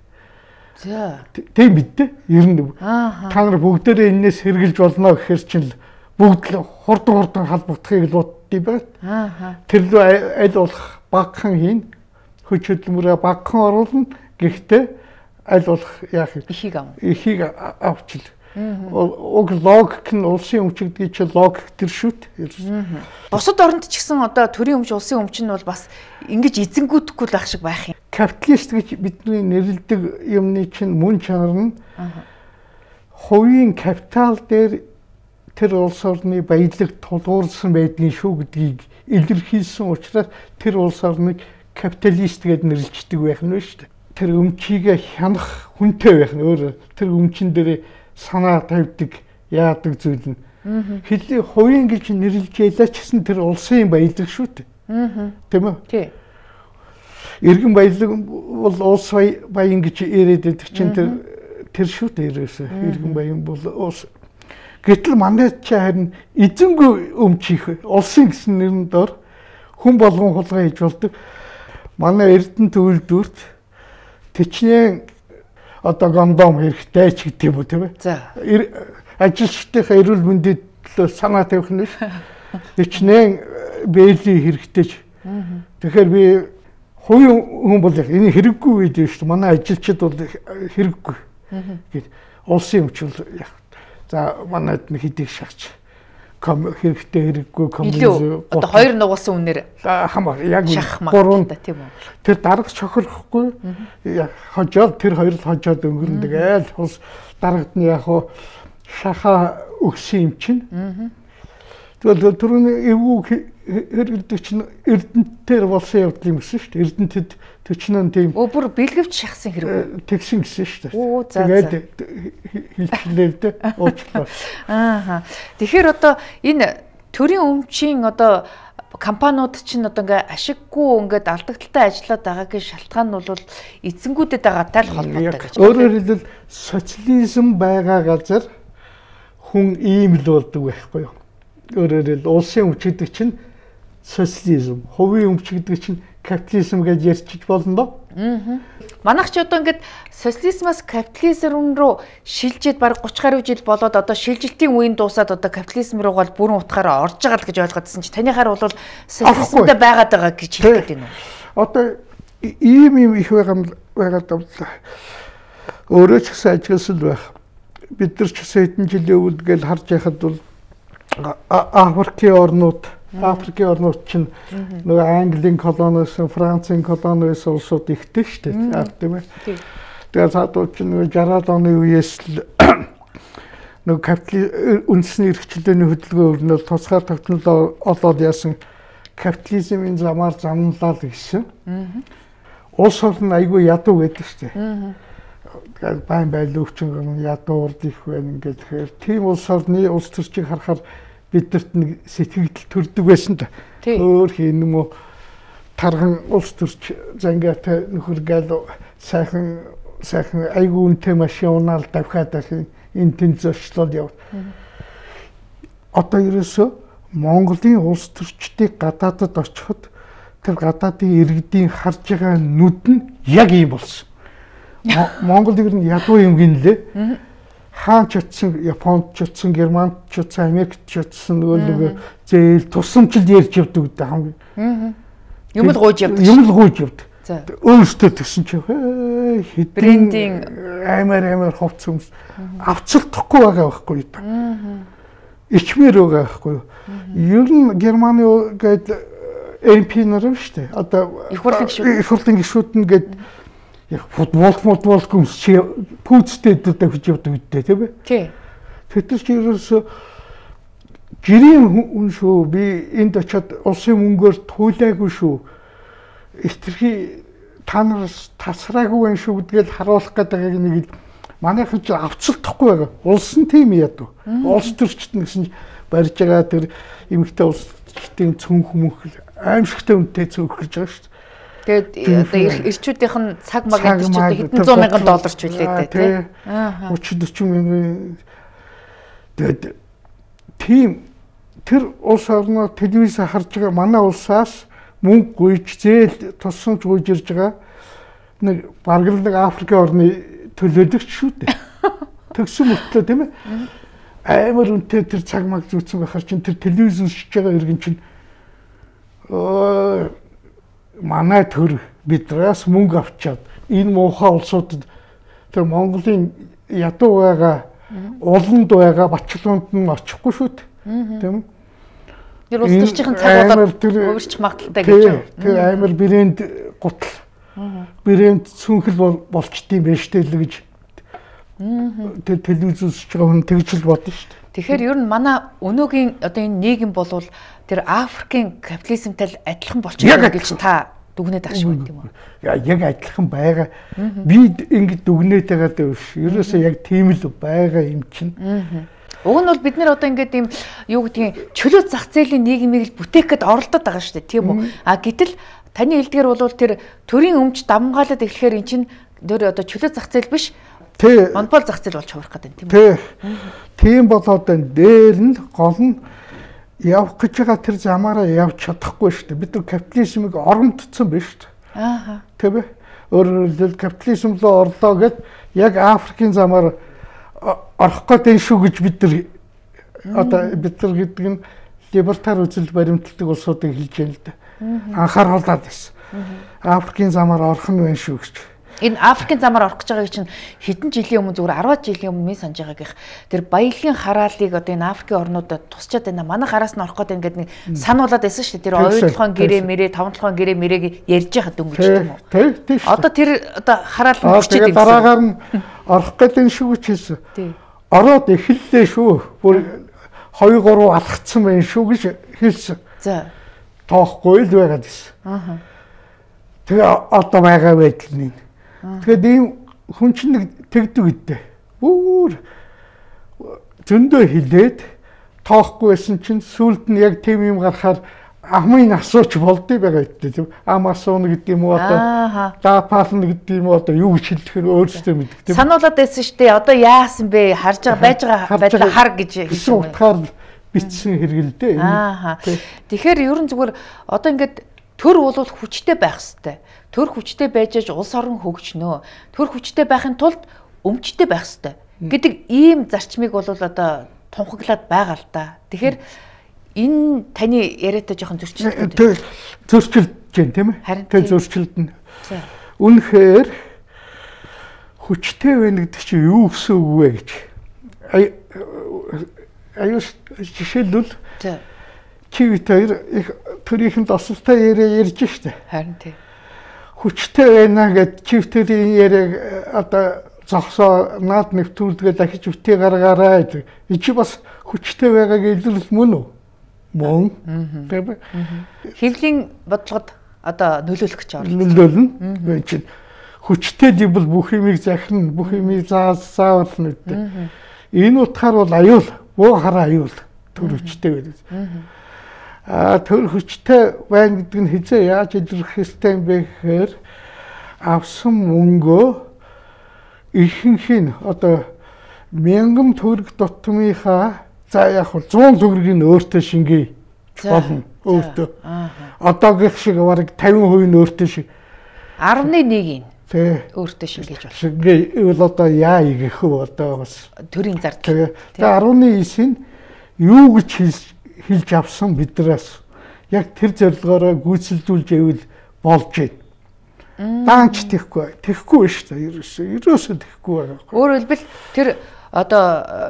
За. Тийм бидтэй. Ер нь та нар бүгдээрээ энэс хэрглэж болно гэхээр чинь бүгд л хурдан халбагдахыг л боддгий байна. Тэр лөө аль болох багхан хийн хүч хөдөлмөрөө багхан оруулна. Гэхдээ аль болох яах ихийг авчил. Уг логик нь улсын өмч гэдэг чинь логик төр шүү дээ. Бусад оронд ч гэсэн одоо төрийн өмч улсын өмч нь бол бас ингэж эзэнгүүдэхгүй л байх шиг байх юм. Капиталист гэж бидний нэрлэдэг юмны чинь мөн чанар нь хувийн капитал дээр тэр улс орны баялаг тулгуурласан байдгийн шүү гэдгийг илэрхийлсэн учраас тэр улс орныг капиталист гэж нэрлэждэг байх нь шүү дээ. Тэр өмчийг хянах хүнтэй байх нь өөр тэр өмчн дээр санаа тавьдаг яадаг зүйл нь хэлийн хувийн гэж нэрлэж ялаа ч гэсэн тэр улсын баялаг шүү дээ. Тийм үү? Тий. Иргэн баялаг бол улс баян гэж яриад байдаг чинь тэр шүү дээ ерөөсөө. Иргэн баян бол улс. Гэтэл манай чи харин эзэнгүй өмч их улсын гэсэн нэрн дор хүн болгон хулгай хийж болдог. Манай Эрдэнэт үйлдвэрт тэчнээ одоо гондом хэрэгтэй ч гэдэг юм уу тийм ээ. За. Ажилчдынхаа эрүүл мэндийн төлөө санаа тавих нь ш. Хичнээн бэйли хэрэгтэй ч. Тэгэхээр би хувийн хүн бол энэ хэрэггүй үед шүү дээ. Манай ажилчид бол хэрэггүй. Гэт улсын өмч бол яг. За манайд нэг хэдийг шахаж хэрэгтэй хэрэггүй коммунизм одоо хоёр нугуулсан үнээр хамаа яг гурван тийм үү. Тэр дарга чохирхгүй хожоод тэр хоёр л хожоод өнгөрнө тэгэл ус дарагдны яг хуу шаха өгсөн юм чинь. Тэгвэл түрүүний эвгүй хэрэгдэг чинь Эрдэнтээр болсон явдал юм гэсэн шүү дээ. Эрдэнэтэд төчнөн тийм бүр бэлгэвч шахсан хэрэг тэгсэн гэсэн шүү дээ. Тэгээд хэлчихлээ уучлаа. Тэгэхээр одоо энэ төрийн өмчийн одоо компаниуд чинь одоо ингээ ашиггүй ингээд алдагдaltaй ажиллаад байгаагийн шалтгаан нь бол эзэнгүүдэд байгаатай л холбоотой гэж. Өөрөөр хэлбэл социализм байгаа газар хүн ийм л болдог байхгүй юу? Өөрөөр хэлбэл улсын өмч гэдэг чинь социализм, хувийн өмч гэдэг чинь капитализм гэж ярьчих болно доо. Манайх ч одоо ингээд социализмаас капитализм руу шилжээд баг 30 гаруй жил болоод одоо шилжилтийн үеийн дуусаад одоо капитализм руугаа бүрэн утгаараа орж байгаа л гэж ойлгоодсэн чи танийхаар бол социализмдээ байгаад байгаа гэж хэлээд байна уу? Одоо ийм их байгаад байна. Өөрөө ч гэсэн ажигласан байх. Бид нар ч гэсэн хэдэн жилийн өмнө гээд харж байхад бол Африкийн орнууд чинь нөгөө Английн колониос, Францын колониос улсууд ихтэй шүү дээ. Тийм ээ. Тэгээд цаадууд чинь нөгөө 60-аад оны үеэс л нөгөө капитализм үндэсний эрхчлөөний хөдөлгөөн өрнөл тусгаар тогтнол олоод яасан капитализмын замаар замналаа л гэсэн. Улс орн айгүй ядуу гэдэг шүү дээ. Тэгээд байн байлуу өвчин ядуу урд их байна ингээд тэгэхээр тийм улс орны улс төрчийг харахаар бидэрт нэг сэтгэл төрдөг байсан да. Өөр хин юм уу тархан улс төрч зангаатай нөхөр гал сайхан айгүй үнэтэй машин унаал давхаад дахин энэ тэн зочлол яв. Одоо ерөөсө Монголын улс төрчдийг гадаадад очиход тэр гадаадын иргэдийн харж байгаа нүд нь яг ийм болсон. Монгол ер нь ядуу юм гинлээ. Хаан ч утсан, Японд ч утсан, Германд ч утсан, Америкт ч утсан нөгөө зээл тусамчл ярьж явдаг гэдэг хамгийн. Юм л гуйж явдаг. Юм л гуйж явдаг. Өөрөөсөө тэгсэн чи брендинг амар хувц хүмүүс авцалдахгүй байгаа байхгүй юу? Ичмэр байгаа байхгүй юу? Ер нь Германы гээд MP нар шүү дээ. Одоо их хурлын гишүүд нь гээд футбол хүмүүс чи пүүцтэй давж явдаг үедээ тийм ээ. Тий. Тэр чи ерөөсө гэрийн хүн шүү. Би энд очиод улсын мөнгөөр туйлаагүй шүү. Эстерхий та нараас тасраагүй байх шүү гэдгээл харуулах гэдэг нэг манайхан ч авцалдахгүй байгаа. Улс нь тийм ядуу. Улс төрчт гэсэн барьж байгаа тэр эмэгтэй улсчдын цүнх мөнх аимшигтай үнэтэй цөөх гэж байгаа шүү дээ. Тэгээд одоо ирчүүдийнх нь цаг маг гэдэг чинь хэдэн зуун мянган доллар ч үлээдэй тий. 30-40 мянган. Тэгээд тийм тэр улс орноо телевиз харж байгаа манай улсаас мөнгө гуйж зээл тусамж гуйж ирж байгаа нэг бараг нэг Африкийн орны төлөөлөгч шүү дээ. Тэгсэн мөртлөө тийм ээ. Амар үнэтэй тэр цаг маг зүүцэн байхаар чинь тэр телевиз үзэж байгаа иргэн чинь манай төр бидраас мөнгө авчаад энэ муухай улсуудад тэр Монголын ядуу байгаа уланд байгаа бачлуунд нь очихгүй шүү дээ. Тийм. Тэр улс төрчийн цагуудад өөрчлөх магадaltaй гэж байна. Тэр амар брэнд гутал. Брэнд цүнхэл болчдгийм байж тээ л гэж. Тэр телевиз үзэж байгаа хүн тэгж л бодно шүү дээ. Тэгэхээр ер нь манай өнөөгийн одоо энэ нийгэм болвол тэр Африкийн капитализмтай адилхан болчихно гэж та дүгнээд ах шиг байт юм уу? Яг адилхан байгаа. Би ингэ дүгнээд байгаа даа биш. Ерөөсөө яг тийм л байгаа юм чинь. Уг нь бол бид нэр одоо ингээд юм юу гэдгийг чөлөө зах зээлийн нийгмийг л бүтээхэд оролдоод байгаа шүү дээ, тийм үү? Гэтэл таны хэлдгээр бол тэр төрийн өмч давмгаалаад эхлэхээр эн чинь тэр одоо чөлөө зах зээл биш. Монопол зах зээл болж хувирах гэдэг юм, тийм үү? Тийм болоод энэ дээр нь гол нь явах гэж байгаа тэр замаараа явж чадахгүй шүү дээ. Бид нар капитализмыг оромдсон биш шүү дээ. Тийм ээ. Өөрөөр хэлбэл капитализм руу орлоо гэд яг Африкийн замаар орох гэдэг шүү гэж бид нар одоо бид нар гэдэг нь либертар үзэл баримтлагдаг улсуудыг хэлж байна л да. Анхааруулад байсан. Африкийн замаар орох нь байна шүү гэж. Энэ Африкийн замаар орох гэж байгааг чинь хэдэн жилийн өмнө зүгээр 10 жилийн өмнө минь санаж байгааг тэр баялагын хараалыг одоо энэ Африкийн орнуудад тусчаад байна. Манай хараас нь орох гэдэг ингээд нэг сануулад байсан шүү дээ. Тэр оюутлахын гэрээ мэрээ, тавталхын гэрээ мэрээг ярьж байхад дөнгөж тийм үү? Тийм. Одоо тэр одоо хараал нь өччихэд юм. Дараагаар нь орох гэдэг шүү гэж хэлсэн. Тийм. Ороод эхэллээ шүү. Бүр 2-3 алхацсан байна шүү гэж хэлсэн. За. Тоохгүй л байгаад байсан. Тэгээ одоо байгаа байдал нь. Тэгээд ийм хүн чинь нэг тэгдэг үедээ бүр зөндөө хилээд тоохгүй байсан чинь сүүлд нь яг тийм юм гарахаар амын асууч болдгий байгаа үедээ тийм ам асууна гэдэг юм уу одоо даапаална гэдэг юм уу одоо юу гэж хэлэх нь өөрсдөө мэддэг тийм сануулад байсан шүү дээ одоо яасан бэ харж байгаа байж байгаа байдлаа хар гэж хэлсэн утгаар бичсэн хэрэгэлдэ. Тэгэхээр ерөн зүгээр одоо ингээд төр бол хүчтэй байх хэвээр. Төр хүчтэй байж улс орон хөгжнөө. Төр хүчтэй байхын тулд өмчтэй байх хэвээр гэдэг ийм зарчмыг бол одоо тунхаглаад байгаа л да. Тэгэхээр энэ таны яриатай жоохон зөрчилдөг. Зөрчилдөж जैन тийм ээ. Тэгээ зөрчилдөн. Үнэхээр хүчтэй байна гэдэг чинь юу гэсэн үг вэ гэж. Аюул жишээлбэл чивтээр их төрийнхэн тосолтой яриа ярьж штэ. Харин тийм. Хүчтэй байна гэд чивтэрийн яриаг одоо зогсоо наад нэвтрүүлгээ дахиж битгий гаргаарай гэдэг. Ичи бас хүчтэй байгааг илэрл мөн үү? Мөн. Тийм. Хэвлийн бодлогод одоо нөлөөлөх гэж байна. Нөлөөлнө. Чи хүчтэй дибл бүх юмыг захирна, бүх юмыг заавална гэдэг. Энэ утгаар бол аюул, буу хараа аюул төр хүчтэй байдаг. Төр хүчтэй байна гэдэг нь хизээ яаж илэрхийлэх ёстой юм бэ гэхээр авсан мөнгөө ихэнх нь одоо 1000 төгрөг дутмынхаа за яг 100 төгрөгийг өөртөө шингээе болно өөртөө. Одоогийнх шиг бараг 50% нь өөртөө шиг 11-ийг өөртөө шингээж болно. Шингээвэл одоо яа игэх вэ одоо бас төрийн зардал. Тэгээ 19-ийн юу гэж хэлж авсан биднээс яг тэр зорилгоороо гүйцэлдүүлж ивэл болж байна. Даанч тэхгүй шүү дээ. Ерөөсөө тэхгүй байгаа. Өөрөөр хэлбэл тэр одоо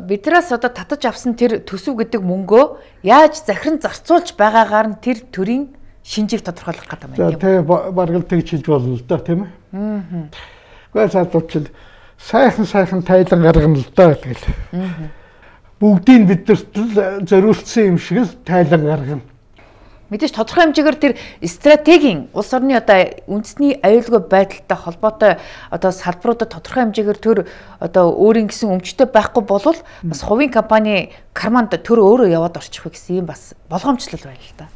биднээс одоо татаж авсан тэр төсөв гэдэг мөнгөө яаж захиран зарцуулж байгаагаар нь тэр төрийн шинжийг тодорхойлох гэдэг юм байна. За тэгээ баргал тэгж хэлж болно л да тийм ээ. Гэхдээ цаадуучил сайхан тайлан гаргана л да тэгэл. Бүгдийг бидэрт зориулсан юм шиг л тайлан гаргана. Мэдээж тодорхой хэмжээгээр тэр стратегийн улс орны одоо үндэсний аюулгүй байдалтай холбоотой одоо салбаруудад тодорхой хэмжээгээр төр одоо өөрийн гэсэн өмчтэй байхгүй болвол бас хувийн компани карманд төр өөрөө яваад орчих вэ гэсэн юм бас болгоомжлол байна л да.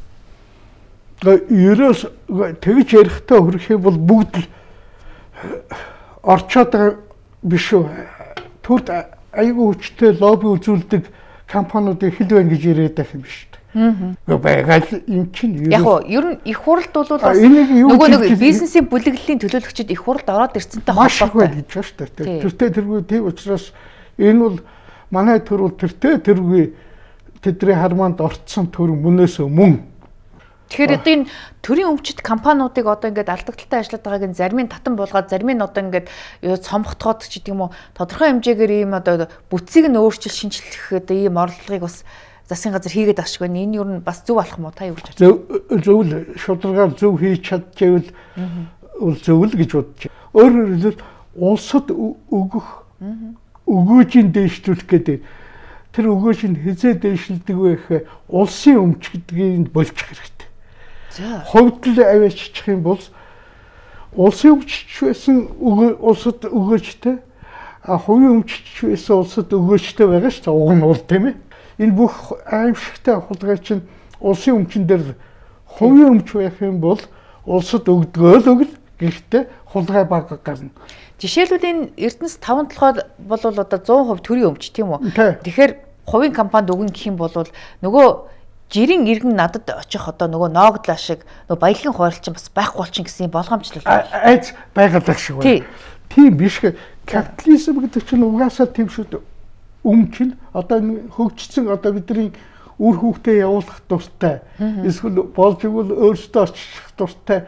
Ерөөс тэгж ярихдаа хөрөх юм бол бүгд л орчоод байгаа биш үү? Төрд аюулгүй хүчтэй лобби үзүүлдэг компаниудыг хэл байна гэж яриад байх юм биш үү? Байгаад юм чинь яг уу ер нь их хуралд бол бас нөгөө нэг бизнесийн бүлэглэлийн төлөөлөгчид их хуралд ороод ирсэнтэй холбоотой гэж байна шүү дээ. Тэртээ тэргүй тийм учраас энэ бол манай төр бол тэртээ тэргүй тэдний хармаанд орцсон төр мөнөөс мөн. Тэгэхээр одоо энэ төрийн өмчит компаниудыг одоо ингээд алдагдaltaй ажиллаад байгааг нь зарим нь татан булгаад зарим нь одоо ингээд цомготгоод ч гэдэг юм уу тодорхой хэмжээгээр ийм одоо бүтцийг нь өөрчилж шинжлэх одоо ийм орлогыг бас засгийн газар хийгээд байгаа шиг байна. Энэ юу н бас зөв болох мó та юу гэж бодож байна? Зөв л шударгаар зөв хийж чадчихвэл зөв л гэж бодож байна. Өөрөөр хэлбэл улсад өгөөжийн дэвшлүүлэх гэдэг тэр өгөөж нь хизээ дэвшилдэг вэ гэхээр улсын өмч гэдгийг болчих хэрэгтэй. За хувьд л аваачих юм бол улсын өмчч байсан улсад өгөөжтэй хувийн өмчч байсан улсад өгөөжтэй байгаа шүү дээ. Уг нь бол тийм ээ. Энэ бүх аимшигтай хулгай чинь улсын өмчн дээр хувийн өмч байх юм бол улсад өгдгөө л өгөл гэхдээ хулгай баг гарна. Жишээлбэл энэ Эрдэнэс 5 толгой бол одоо 100% төрийн өмч тийм үү? Тэгэхээр хувийн компанид өгнө гэх юм бол нөгөө жирийн иргэн надад очих одоо нөгөө ноогдлаа шиг нөгөө баялагын хуваарлчин бас байхгүй болчин гэсэн болгоомжлол айц байгаад байх шиг байна. Тийм биш. Капитализм гэдэг чинь угаасаа тийм шүү дээ. Чинь одоо хөгжсөн одоо бидний үр хөвгтөө явуулах дуртай. Эсвэл болж игэл өөрсдөө очих дуртай.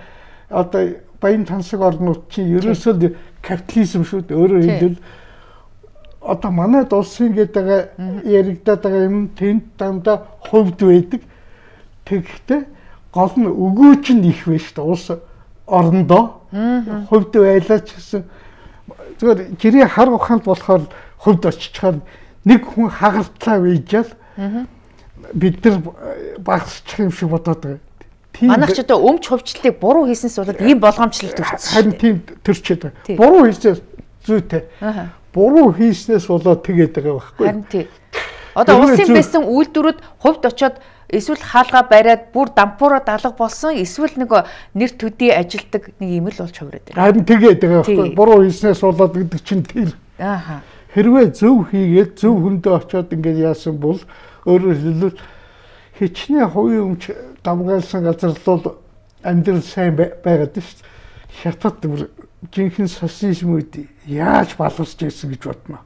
Одоо баян тансаг орнууд чинь ерөөсөө капитализм шүү дээ. Өөрөөр хэлбэл одоо манай улсын гэдэг яригдаад байгаа юм тэнд дандаа хувьд байдаг. Тэгэхдээ гол нь өгөөж нь их байна шүү дээ. Улс орондоо хувьд байлаач гэсэн зүгээр жирийн хар ухаанд болохоор хувьд очичхаар нэг хүн хагартлаа вийжэл бид нар багсчих юм шиг бодоод байгаа. Манайх ч одоо өмч хувьчлалыг буруу хийсэнс болоод ийм болгоомжлол төрсөн. Харин тийм төрчээд байгаа. Буруу хийснээс зүйтэй. Буруу хийснээс болоод тэгээд байгаа байхгүй. Харин тийм. Одоо улсын байсан үйлдвэрүүд хувьд очоод эсвэл хаалга бариад бүр дампуураа далга болсон эсвэл нэг нэр төдий ажилдаг нэг юм л болж хувираад байна. Харин тэгээд байгаа байхгүй. Буруу хийснээс болоод гэдэг чинь тийм. Хэрвээ зөв хийгээд зөв хүндээ очоод ингээд яасан бол өөрөөр хэлбэл хичнээн хувийн өмч давгаалсан газар бол амьдрал сайн байгаад шүү дээ. Хятад жинхэнэ социализмууд яаж баларч ирсэн гэж бодно.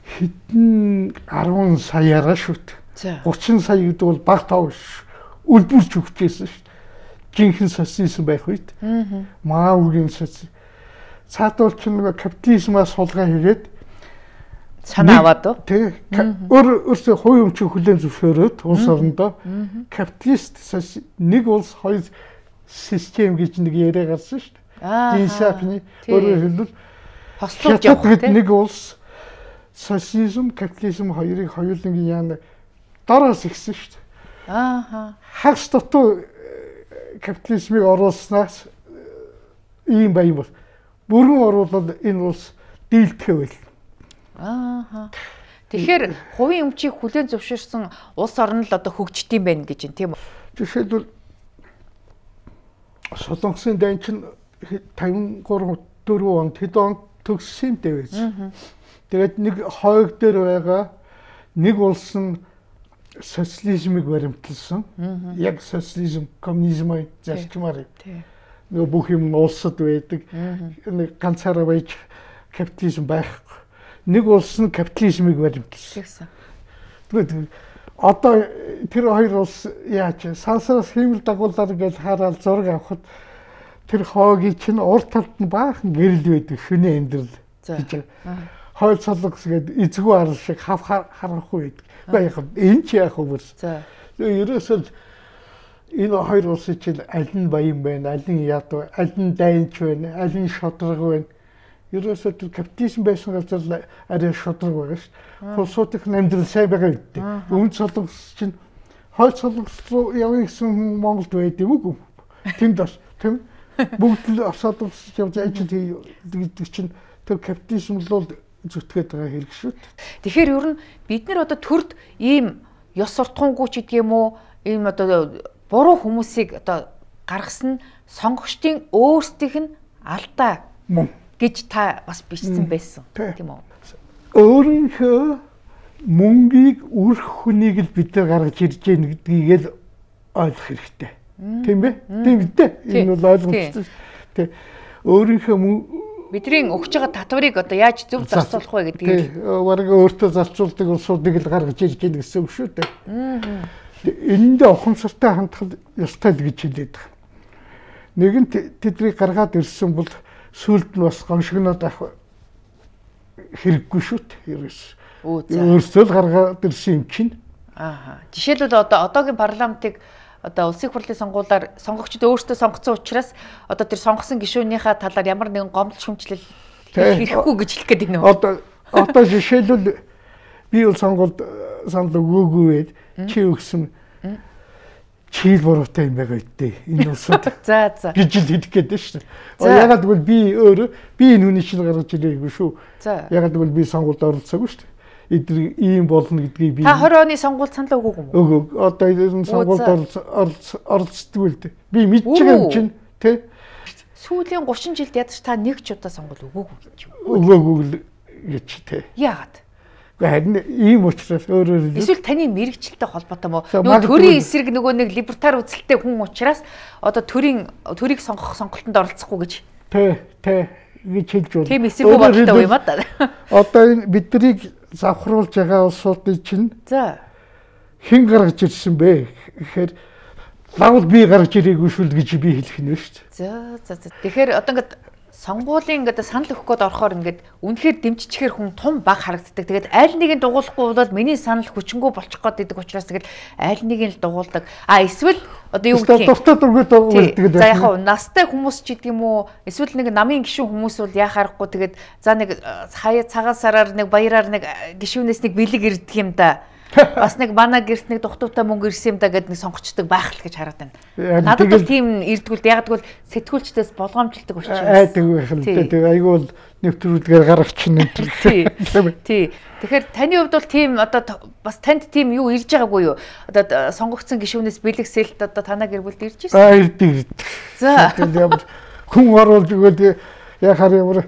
Хэдэн 10 саяараа шүү дээ. 30 сая гэдэг бол баг тав үлбүрч өгчээсэн шүү дээ. Жинхэнэ социализм байх үед. Маавгийн социализм. Цаадуул чинь нэг капитализмаас сулгаа хийгээд санаа аваад уу? Тэг. Өөрөөсөө хувийн өмчийг хүлээн зөвшөөрөөд улс орондоо капиталист нэг улс хоёр систем гэж нэг яриа гарсан шүү дээ. Динсапны өөрөөр хэлбэл хослуулж явах тийм нэг улс социализм, капитализм хоёрыг хоёулангийн яана дараас ихсэн шүү дээ. Хагас дутуу капитализмыг оруулснаас ийм баян бол бүрэн оруулал энэ улс дийлдэхэ байл. Тэгэхээр хувийн өмчийг хүлээн зөвшөөрсөн улс орн л одоо хөгждөг юм байна гэж юм тийм үү? Жишээлбэл Солонгосын дайн чинь 53 4 онд хэд онд төгссөн дээ байж. Тэгээд нэг хойг дээр байгаа нэг улс нь социализмыг баримталсан. Яг социализм, коммунизмын зарчмаар. Нөгөө бүх юм улсад байдаг. Нэг ганцаараа байж капитализм байхгүй. Нэг улс нь капитализмыг баримталсан. Тэгээд одоо тэр хоёр улс яаж сансраас хиймэл дагуулаар гэж хараад зураг авахад тэр хоогийн чинь урд талд нь баахан гэрэл байдаг шөнийн амьдрал гэж. Хойл солонгос гэдэг эзгүй арал шиг харахгүй байдаг. Яг энэ ч яг хөвөр. Ерөөсөө энэ хоёр улсын чинь аль нь баян байна, аль нь яд, аль нь дайнч байна, аль нь шодрог байна. Ерөөсөө тэр капитализм байсан газар арай шудраг байгаа шүү. Улсуудын амьдрал сайн байгаа гэдэг. Өмнө солонгос чинь хойл солонгос руу явъя гэсэн хүн Монголд байд юм уу? Тэнд бас тийм бүгд л солонгос явж ажил хийдэг чинь тэр капитализм л зүтгээд байгаа хэрэг шүү. Тэгэхээр ер нь бид нар одоо төрд ийм ёс суртахуунгүй ч гэдэг юм уу? Ийм одоо буруу хүмүүсийг одоо гаргасан сонгогчдын өөрсдийнх нь алдаа гэж та бас бичсэн байсан тийм үү? Өөрийнхөө мөнгийг үрх хүнийг л бид нар гаргаж ирж гэнэ гэдгийг л ойлгох хэрэгтэй. Тийм бэ? Тийм үү? Энэ бол ойлгомжтой. Тэ өөрийнхөө бидний өгч байгаа татварыг одоо яаж зөв зарцуулах вэ гэдгийг бараг өөртөө зарцуулдаг улсуудыг л гаргаж ирж гэнэ гэсэн үг шүү дээ. Энэндээ ухамсартай хандах ёстой л гэж хэлээд байгаа. Нэгэнт тэднийг гаргаад ирсэн бол сүлд нь бас гоншигноод авах хэрэггүй шүү дээ. Өөрсдөө л гаргаад ирсэн юм чинь. Жишээлбэл одоо одоогийн парламентыг одоо улсын хурлын сонгуулиар сонгогчдод өөрсдөө сонгоцсон учраас одоо тэр сонгосон гишүүнийхээ талаар ямар нэгэн гомдол шүмжлэл хийхгүй гэж хэлэх гээд байна уу? Одоо жишээлбэл би бол сонгуульд санал өгөөгүй байд чи өгсөн чийл буруутай юм байгаа үедээ энэ улсад гэж л хэлэх гээд байна шүү дээ. Ягаад гэвэл би энэ хүний чинь гаргаж ирээгүй шүү. Ягаад гэвэл би сонгуульд оролцоогүй шүү дээ. Эдгээр ийм болно гэдгийг би та 20 оны сонгуульд санал өгөөгүй юм уу? Өгөөг. Одоо энэ сонгуульд оролцдог л дээ. Би мэдж байгаа юм чинь тий. Сүүлийн 30 жилд ядаж та нэг ч удаа сонгуул өгөөгүй гэж. Өгөөгүй гэж тий. Яагаад? Харин ийм учраас өөрөөр хэлбэл эсвэл таны мэрэгчлэлтэй холбоотой мó нөгөө төрийн эсрэг нөгөө нэг либертар үзэлтэй хүн учраас одоо төрийг сонгох сонголтонд оролцохгүй гэж. Тий. гэж хэлж байна. Тийм эсэргүү бодолтой юм аа. Одоо энэ биднийг завхруулж байгаа улсуудын чинь За. хэн гаргаж ирсэн бэ гэхээр лавл би гаргаж ирээгүй шүл гэж би хэлэх нь шүү дээ. За. Тэгэхээр одоо ингээд сонгуулийн ингээд санал өгөх гээд орохоор ингээд үнэхээр дэмжчихээр хүн том баг харагддаг. Тэгээд аль нэгийг дугуулахгүй бол миний санал хүчингү болчих гээд идэг учраас тэгээд аль нэгийг л дугуулдаг. Эсвэл одоо юу гэх юм? Дуртай дургүй дугуулдаг. За яг настай хүмүүс ч гэдэг юм уу? Эсвэл нэг намын гишүүн хүмүүс бол яхаарахгүй тэгээд за нэг хаяа цагаан сараар нэг баяраар нэг гишүүнээс нэг бэлэг ирдэг юм да. Бас нэг манай гэрт нэг дугтуутай мөнгө ирсэн юм да гэд нэг сонгочдөг байх л гэж хараад байна. Надад бол тийм ирдгүүл яг тэгвэл сэтгүүлчдээс болгоомжлдог учраас. Айдаг байх л дээ. Тэгээ айгүй бол нэвтрүүлгээр гаргачихна. Тий. Тэгэхээр таны хувьд бол тийм одоо бас танд тийм юу ирж байгаагүй юу? Одоо сонгогдсон гишүүнээс бэлэг сэлт одоо танаа гэр бүлд ирж ирсэн. Ирдэг. За. Тэгээд хүн оруулж өгөөд яхаар ямар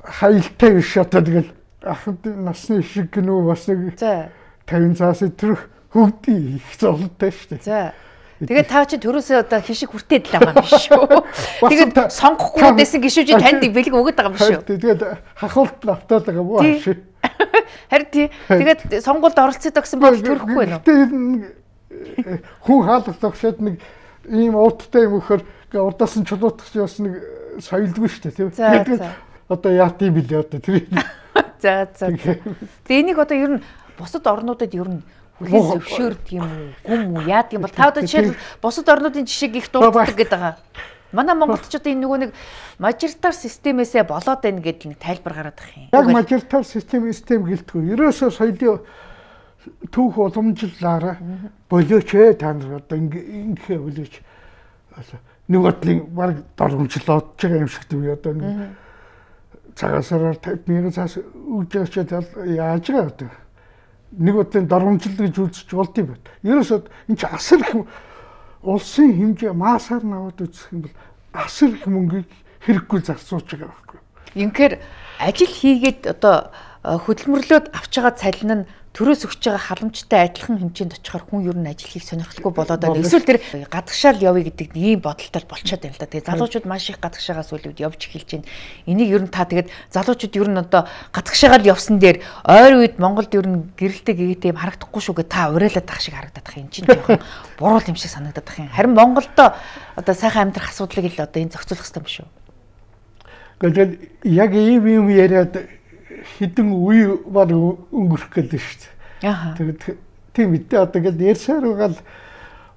хайлттай биш одоо тэгэл ахад насны шиг гэнүү бас нэг. За. 50 цаас төрөх хөвгдий их зовлонтой шүү дээ. За. Тэгээд та чи төрөөсөө одоо хишиг хүртээд л байгаа юм биш үү? Тэгээд сонгохгүй байсан гişүүжи танд бэлэг өгöd байгаа юм биш үү? Тэгээд хахуулт автаад байгаа боо ашиг. Харин тий. Тэгээд сонгуульд оролцоод гэсэн бол төрөхгүй нөө. Хүн хаалт тогшоод нэг ийм ууттай юм өгөхөр урдаас нь чулуутах чи бас нэг соёлгүй шүү дээ тийм. Тэгээд одоо яат юм бэлээ одоо тэр. За. Тэгээд энийг одоо ер нь бусад орнуудад ер нь хүлээн зөвшөөрдөг юм уу? Гүм үү? Яадаг юм бол та одоо жишээл бусад орнуудын жишээг их дурддаг гэдэг байгаа. Манай Монголд ч одоо энэ нөгөө нэг мажоритар системээсээ болоод байна гэдэг нэг тайлбар гараад байгаа юм. Яг мажоритар систем гэлтгүй. Ерөөсөө соёлын түүх уламжлалаараа болооч та нар одоо ингэхэ болооч. Нэг бодлын баг дормжлоод байгаа юм шиг тийм одоо нэг цагаасараар 50,000 цаас үгж яаж байгаа одоо нэг бодлын дормжлол гэж үзэж болд юм байна. Ерөөсөө энэ чи асар их улсын хэмжээ маасаар наваад үзэх юм бол асар их мөнгийг хэрэггүй зарцуулж байгаа байхгүй. Инхээр ажил хийгээд одоо хөдөлмөрлөөд авч байгаа цалин нь төрөөс өгч байгаа халамжтай адилхан хэмжээнд очихоор хүн ер нь ажил хийх сонирхолтой болоод байна. Эсвэл тэр гадагшаал явъя гэдэг ийм бодолтой болчиход байна л да. Тэгээ залуучууд маш их гадагшаагаас үлүүд явж эхэлж байна. Энийг ер нь та тэгээд залуучууд ер нь одоо гадагшаагаал явсан дээр ойр үед Монголд ер нь гэрэлтэй гэгээд юм харагдахгүй шүү гэж та уриалаад тах шиг харагдаад байгаа юм чинь жоохон буруу юм шиг санагдаад байгаа юм. Харин Монголдо одоо сайхан амьдрах асуудлыг л одоо энэ зохицуулах хэрэгтэй юм шүү. Гэхдээ яг ийм яриад хідэн үе баг өнгөрөх гэдэг шүү дээ. Тэгээд тийм үедээ одоо гээд ярьсаар байгаа л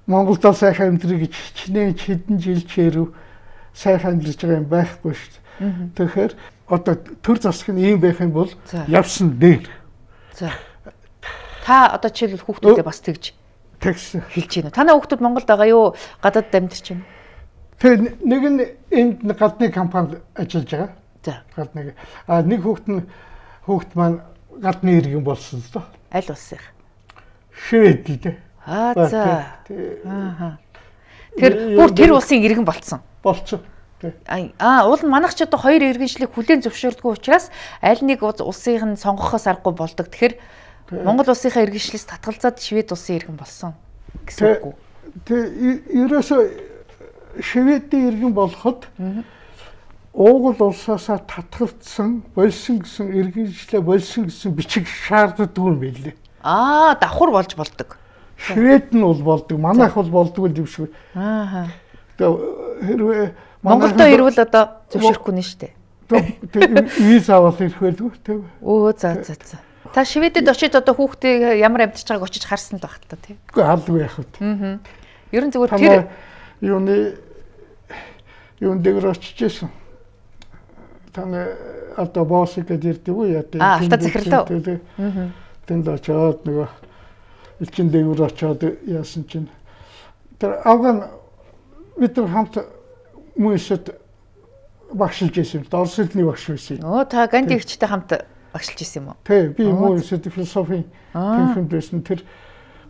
Монголд сайхан амьдрах гэж хичнээн хэдэн жил чирв сайхан амьдарч байгаа юм байхгүй шүү дээ. Тэгэхээр одоо төр засаг нь ийм байх юм бол явсан дээр. За. Та одоо жишээлбэл хүүхдүүдээ бас тэгж хэлж байна. Танай хүүхдүүд Монголд байгаа юу? Гадаад амьдарч байна. Тэгээд нэг нь энд гадны компанид ажиллаж байгаа. За. Гадны. Нэг хүүхд маань гадны иргэн болсон л доо. Аль улсынх? Швед л дээ. За. Тэр бүр тэр улсын иргэн болцсон. Болцсон. Уул нь манайх ч одоо хоёр иргэншлийг хүлээн зөвшөөрдгөө учраас аль нэг улсынх нь сонгохоос аргагүй болдог. Тэгэхээр Монгол улсынхаа иргэншлээс татгалзаад Швед улсын иргэн болсон гэсэн үг үү? Тэг ерөөсөө Шведийн иргэн болоход Уугуул улсаасаа татгалцсан, болсон гэсэн иргэншлээ болсон гэсэн бичиг шаарддаг юм билээ. Давхар болж болдог. Швед нь бол болдог, манайх бол болдгүй юм шиг. Хэрвээ Монголдо ирвэл одоо зөвшөөрөхгүй нэ штэ. Виз аваад ирэх байлгүй тийм. За. Та Шведэд очиж одоо хүүхдээ ямар амьдарч байгааг очиж харсан л байх та тийм. Үгүй халдгүй яах вэ? Ер нь зүгээр тэр юун дээр очижсэн. Таны одоо босс гэдэг ирдэг үү яа тийм. Алта захирлаа. Тэнд очоод нөгөө элчин дээгүүр очоод яасан чинь тэр авган бид нар хамт мөсөд багшилж байсан. Орос хэлний багш байсан. Та Ганди ихчтэй хамт багшилж байсан юм уу? Тий, би мөсөд философи тэмхэн байсан. Тэр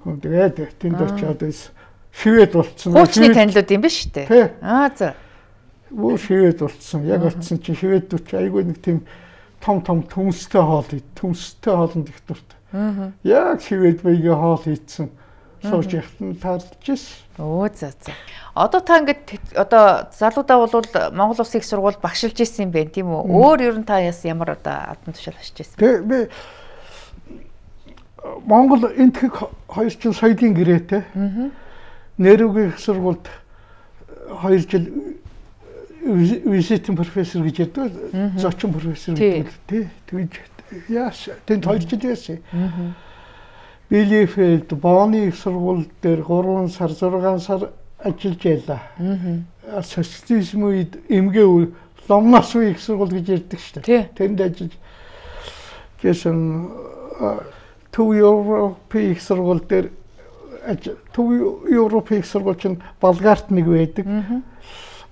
хүн тэгээд тэнд очоод Швед болцсон. Хуучны танилуд юм биш үү? За. Швед болцсон. Яг болцсон чинь шведүүд айгүй нэг тийм том төмстэй хоол хоолнд их дуртай. Яг швед байгээ хоол хийцэн сууж яхад таарлаж ирсэн. Өө за. Одоо та ингээд одоо залуудаа бол Монгол Улсын их сургууль багшилж ирсэн юм байна тийм үү? Өөр ер нь та ямар одоо албан тушаал хашиж ирсэн? Тэгээ би Монгол энтхэг 2 жил соёлын гэрээтэй. Нэрвгийн их сургуульд 2 жил visiting professor гэж яддаг. Зочин профессор гэдэг тий. Тэгж яаш тэнд 2 жил яасан. Билефельд Бооны их сургууль дээр 3 сар 6 сар ажиллаж байлаа. Социализм үед эмгээ ломноос үе их сургууль гэж ярьдаг шүү дээ. Тэнд ажиллаж гэсэн Төв Европын их сургууль дээр Төв Европын их сургууль чинь Болгарт нэг байдаг.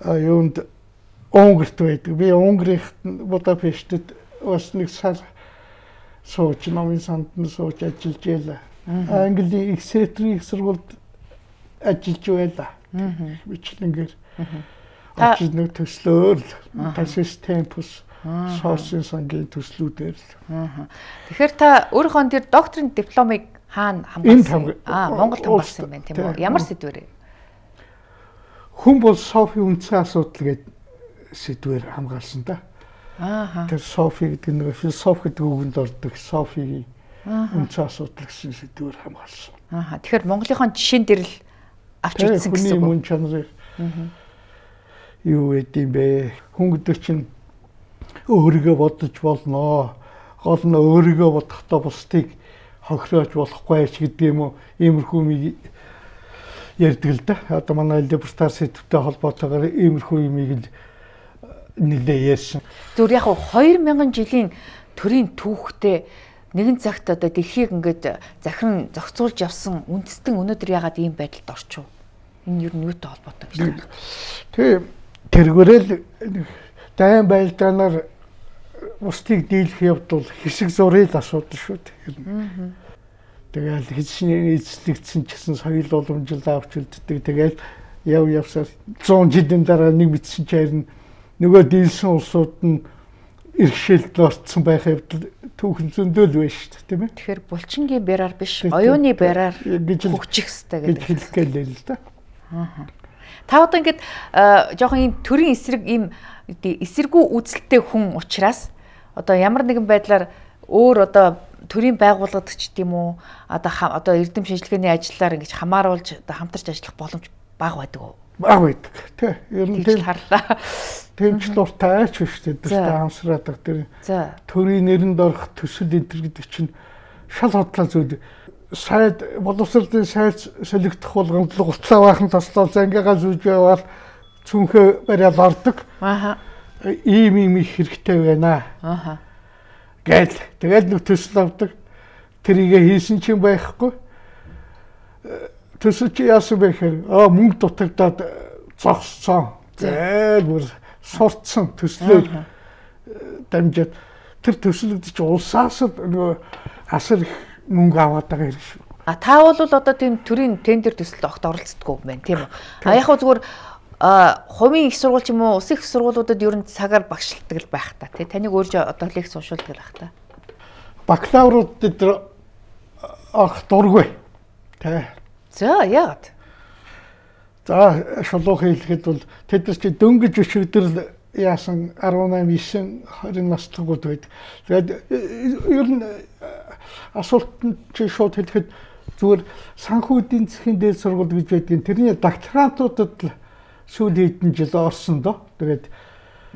Юунд Унгарт байдаг. Би Унгарт Будапештэд бас нэг сар сууж номын санд нь сууж ажиллаж байлаа. Английн Exeter их сургуульд ажиллаж байлаа. Бичлэнгээр ажил нэг төслөөр Tasis Tempus соосын сангийн төслүүдээр л. Тэгэхээр та өөрийнхөө тэр докторийн дипломыг хаана хамгаалсан? Монголд хамгаалсан юм байна тийм үү? Ямар сэдвээр? Хүн бол Софи үндсэн асуудал гэдэг сэдвээр хамгаалсан да. Тэр Софи гэдэг нэг философи гэдэг үгэнд ордог Софигийн үндсэн асуудал гэсэн сэдвээр хамгаалсан. Тэгэхээр Монголынхон жишээн дээр л авч үзсэн гэсэн үг. Хүний мөн чанарыг юу гэдэм бэ? Хүн гэдэг чинь өөрийгөө бодож болно. Гол нь өөрийгөө бодохдоо бусдыг хохироож болохгүй ч гэдэг юм уу? Иймэрхүү юм ярьдаг л да. Одоо манай либертар сэдвтэй холбоотойгоор иймэрхүү юмыг л нэлээ ярьсан. Зүгээр яг 2000 жилийн төрийн түүхтэй нэгэн цагт одоо дэлхийг ингээд захиран зохицуулж явсан үндэстэн өнөөдөр ягаад ийм байдалд орчих вэ? Энэ юу юутай холбоотой гэж байна? Тэгээ тэргээрэл дайн байлдаанаар бусдыг дийлэх явдал хэсэг зургийг асуудал шүү дээ. Тэгэл хэзээ эзлэгдсэн ч гэсэн соёл уламжлал авч үлддэг. Тэгэл явсаар 100 жилийн дараа нэг мэдсэн чинь нөгөө дийлсэн улсууд нь иргэшээлд орцсон байх явдал түүхэн зөндөөл байна шүү дээ, тийм ээ. Тэгэхээр булчингийн бяраар биш, оюуны бяраар хөгжих хэрэгтэй гэдэг хэлэх гээл л да. Та одоо ингээд жоохон ийм төрийн эсрэг ийм эсэргүү үзэлтэй хүн учраас одоо ямар нэгэн байдлаар өөр одоо төрийн байгууллагч гэдэг юм уу одоо эрдэм шинжилгээний ажлаар ингэж хамааруулж одоо хамтарч ажиллах боломж бага байдаг уу? Бага байдаг. Тэ. Ер нь тийм харлаа. Тэмч дуртай ч биш дээ. Дуртай амсраадаг тэр. Төрийн нэрэнд орох төсөл энтер гэдэг чинь шал хотлоо зүйл. Сайд боловсролын сайд солигдох болгонд л гутлаа баахан тослол зангигаа зүүж явал цүнхээ бариад ордог. Ийм их хэрэгтэй байна. Гэл тэгэл нэг төсөл авдаг. Тэрийгэ хийсэн чинь байхгүй. Төсөл чи яасан бэ гэхээр мөнгө дутагдаад зогссон. Зээл бүр сурцсан төслөө дамжаад тэр төслүүд чи улсаас нөгөө асар их мөнгө аваад байгаа юм шүү. Та бол одоо тийм төрийн тендер төсөлд огт оролцдоггүй юм байна тийм үү? Яг хөө зүгээр хувийн их сургууль ч юм уу улсын их сургуулиудад ер нь цагаар багшилдаг л байх та тий. Таныг өөрөө одоо лекц уншуулдаг л байх та. Бакалаврууд дээр дургүй. Тэ. За яагаад? За шулуух хэлэхэд бол тэд нар чи дөнгөж өчигдөр яасан 18 9 20 настайгууд байдаг. Тэгээд ер нь асуултанд чи шууд хэлэхэд зүгээр санхүү эдийн засгийн дээд сургууль гэж байдгийн тэрний докторантуудад л сүүлийн хэдэн жил орсон доо. Тэгээд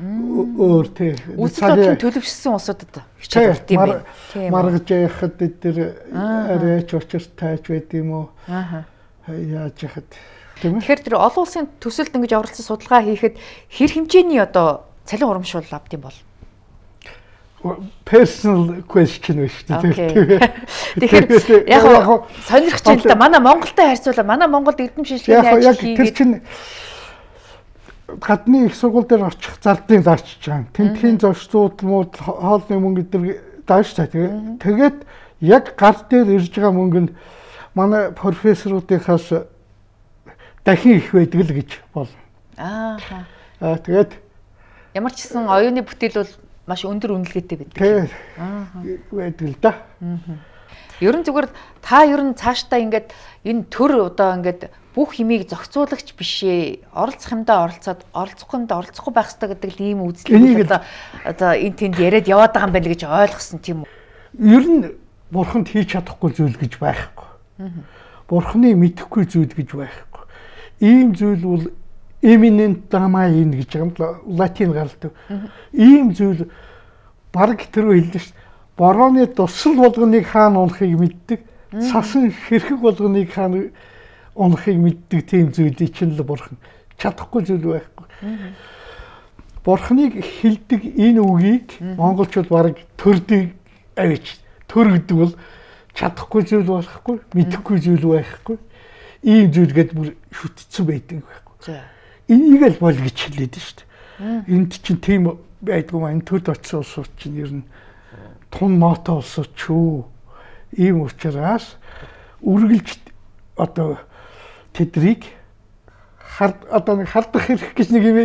өөр тий үсэлтийн төлөвшсөн улсуудад хичээл орд юм байна. Маргаж яхад эдгээр арайч учиртай ч байд юм уу? Яаж яхад тийм ээ. Тэгэхээр тэр олон улсын төсөлд ингэж оролцсон судалгаа хийхэд хэр хэмжээний одоо цалин урамшуул авд юм бол? Personal question биш үү? Тэгэхээр яг сонирхож байна л да. Манай Монголтой харьцуулаад манай Монголд эрдэм шинжилгээний ажил хийгээд тэр чинь гадны их сургууль дээр очих зардыг даачиж байгаа. Тентхийн зочдууд мууд хоолны мөнгө дээр дааш та. Тэгээд яг гар дээр ирж байгаа мөнгө нь манай профессоруудынхаас дахин их байдаг л гэж болно. Тэгээд ямар ч гэсэн оюуны бүтээл бол маш өндөр үнэлгээтэй байдаг. Тэгээд байдаг л да. Ер нь зүгээр та ер нь цаашдаа ингээд энэ төр одоо ингээд бүх химийг зохицуулагч бишээ. Оролцох юмдаа оролцоод оролцохгүй юмдаа оролцохгүй байх хэрэгтэй гэдэг л ийм үзлийг одоо энэ тэнд яриад яваад байгаа юм байна гэж ойлгосон тийм үү? Ер нь бурханд хийж чадахгүй зүйл гэж байхгүй. Бурханы мэдэхгүй зүйл гэж байхгүй. Ийм зүйл бол eminent domain гэж юм латин гаралтай. Ийм зүйл бараг тэр хэлдэг шүү. Борооны дусал болгоныг хаана унахыг мэддэг. Сасан хэрхэг болгоныг хаана унахыг мэддэг тийм зүйлийг чинь л бурхан чадахгүй зүйл байхгүй. Бурханыг хэлдэг энэ үгийг монголчууд бараг төрдөг авич. Төр гэдэг бол чадахгүй зүйл болохгүй, мэдэхгүй зүйл байхгүй. Ийм зүйл гээд бүр шүтцсэн байдаг байхгүй. Энийг л бол гэж хэлээд шүү дээ. Энд чинь тийм байдгүй маань төд очсон улсууд чинь ер нь тун ноото улсууд ч үү. Ийм учраас үргэлж одоо тэдрийг одоо нэг хардах хэрэг гэж нэг юм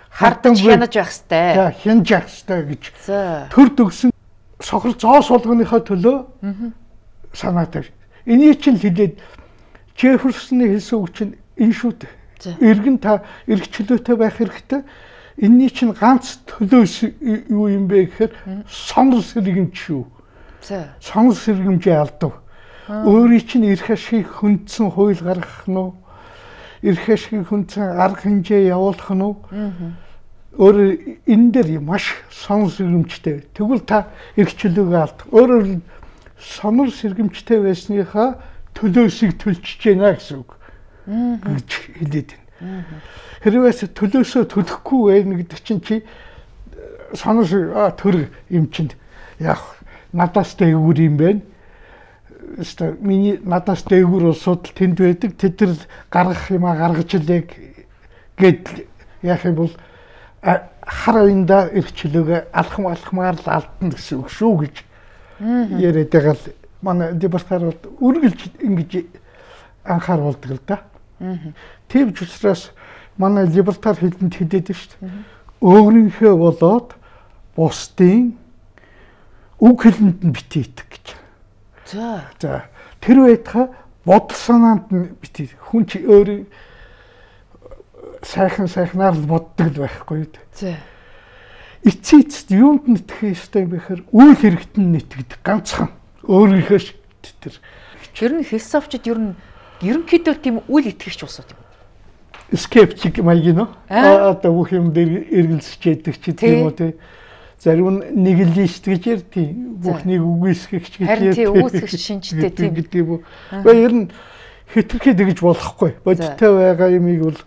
хардан хянаж байх хэвээр. За хянаж явах хэвээр гэж. Төр төгсөн сохор зоос болгоныхоо төлөө санаа тавь. Энийг чинь хэлээд Джефферсоны хэлсэн үг чинь энэ шүү дээ. Иргэн та эргчлөөтэй байх хэрэгтэй. Энийний чинь ганц төлөөс юу юм бэ гэхээр сонор сэргэмж шүү. Сонор сэргэмжээ алдав. Өөрийн чинь эрх ашиг хөндсөн хууль гаргах нь уу? Эрх ашиг хөндсөн арга хэмжээ явуулах нь уу? Өөр энэ дээр маш сонор сэргэмжтэй. Тэгвэл та эрхчлөөгөө алд. Өөрөөр сонор сэргэмжтэй байсныхаа төлөөсийг төлчихөж байна гэсэн үг. Гэж хэлээд байна. Хэрвээс төлөөсөө төлөхгүй байна гэдэг чинь чи сонор төр юм чинь яг надаас дээгүүр юм байна. Өстө миний надаас дээгүүр улсууд тэнд байдаг. Тэд нар гаргах юмаа гаргаж илээ гэд яах юм бол хар уянда эрхчлөөгөө алхмаар л алдна гэсэн үг шүү гэж яриад байгаа л манай департамент үргэлж ингэж анхааруулдаг л да. Тийм ч учраас манай либертар хэлэнд хэлээд шүү дээ. Өөрийнхөө болоод бусдын үг хэлэнд нь битээ итг гэж. За тэр байтха бодол санаанд нь битээ. Хүн чи өөрөө сайхнаар л боддог л байхгүй юу. За. Эцэст юунд нэтгэх ёстой юм бэхээр үйл хэрэгт нь нэтгэдэг ганцхан өөрийнхөө тэр. Ер нь философичд ер нь ерөнхийдөө тийм үйл итгэгч улсууд юм. Скептик маягийн нөө. Одоо бүх юм дээр эргэлзэж яддаг чи тийм үү тий. Зарим нь нигилист гэж ярьдیں۔ Бүхнийг үгүйсгэгч гэж ярьдیں۔ Харин тий үгүйсгэгч шинжтэй тийм гэдэг юм уу. Гэхдээ ер нь хэтэрхий тэгж болохгүй. Бодиттой байгаа юмыг бол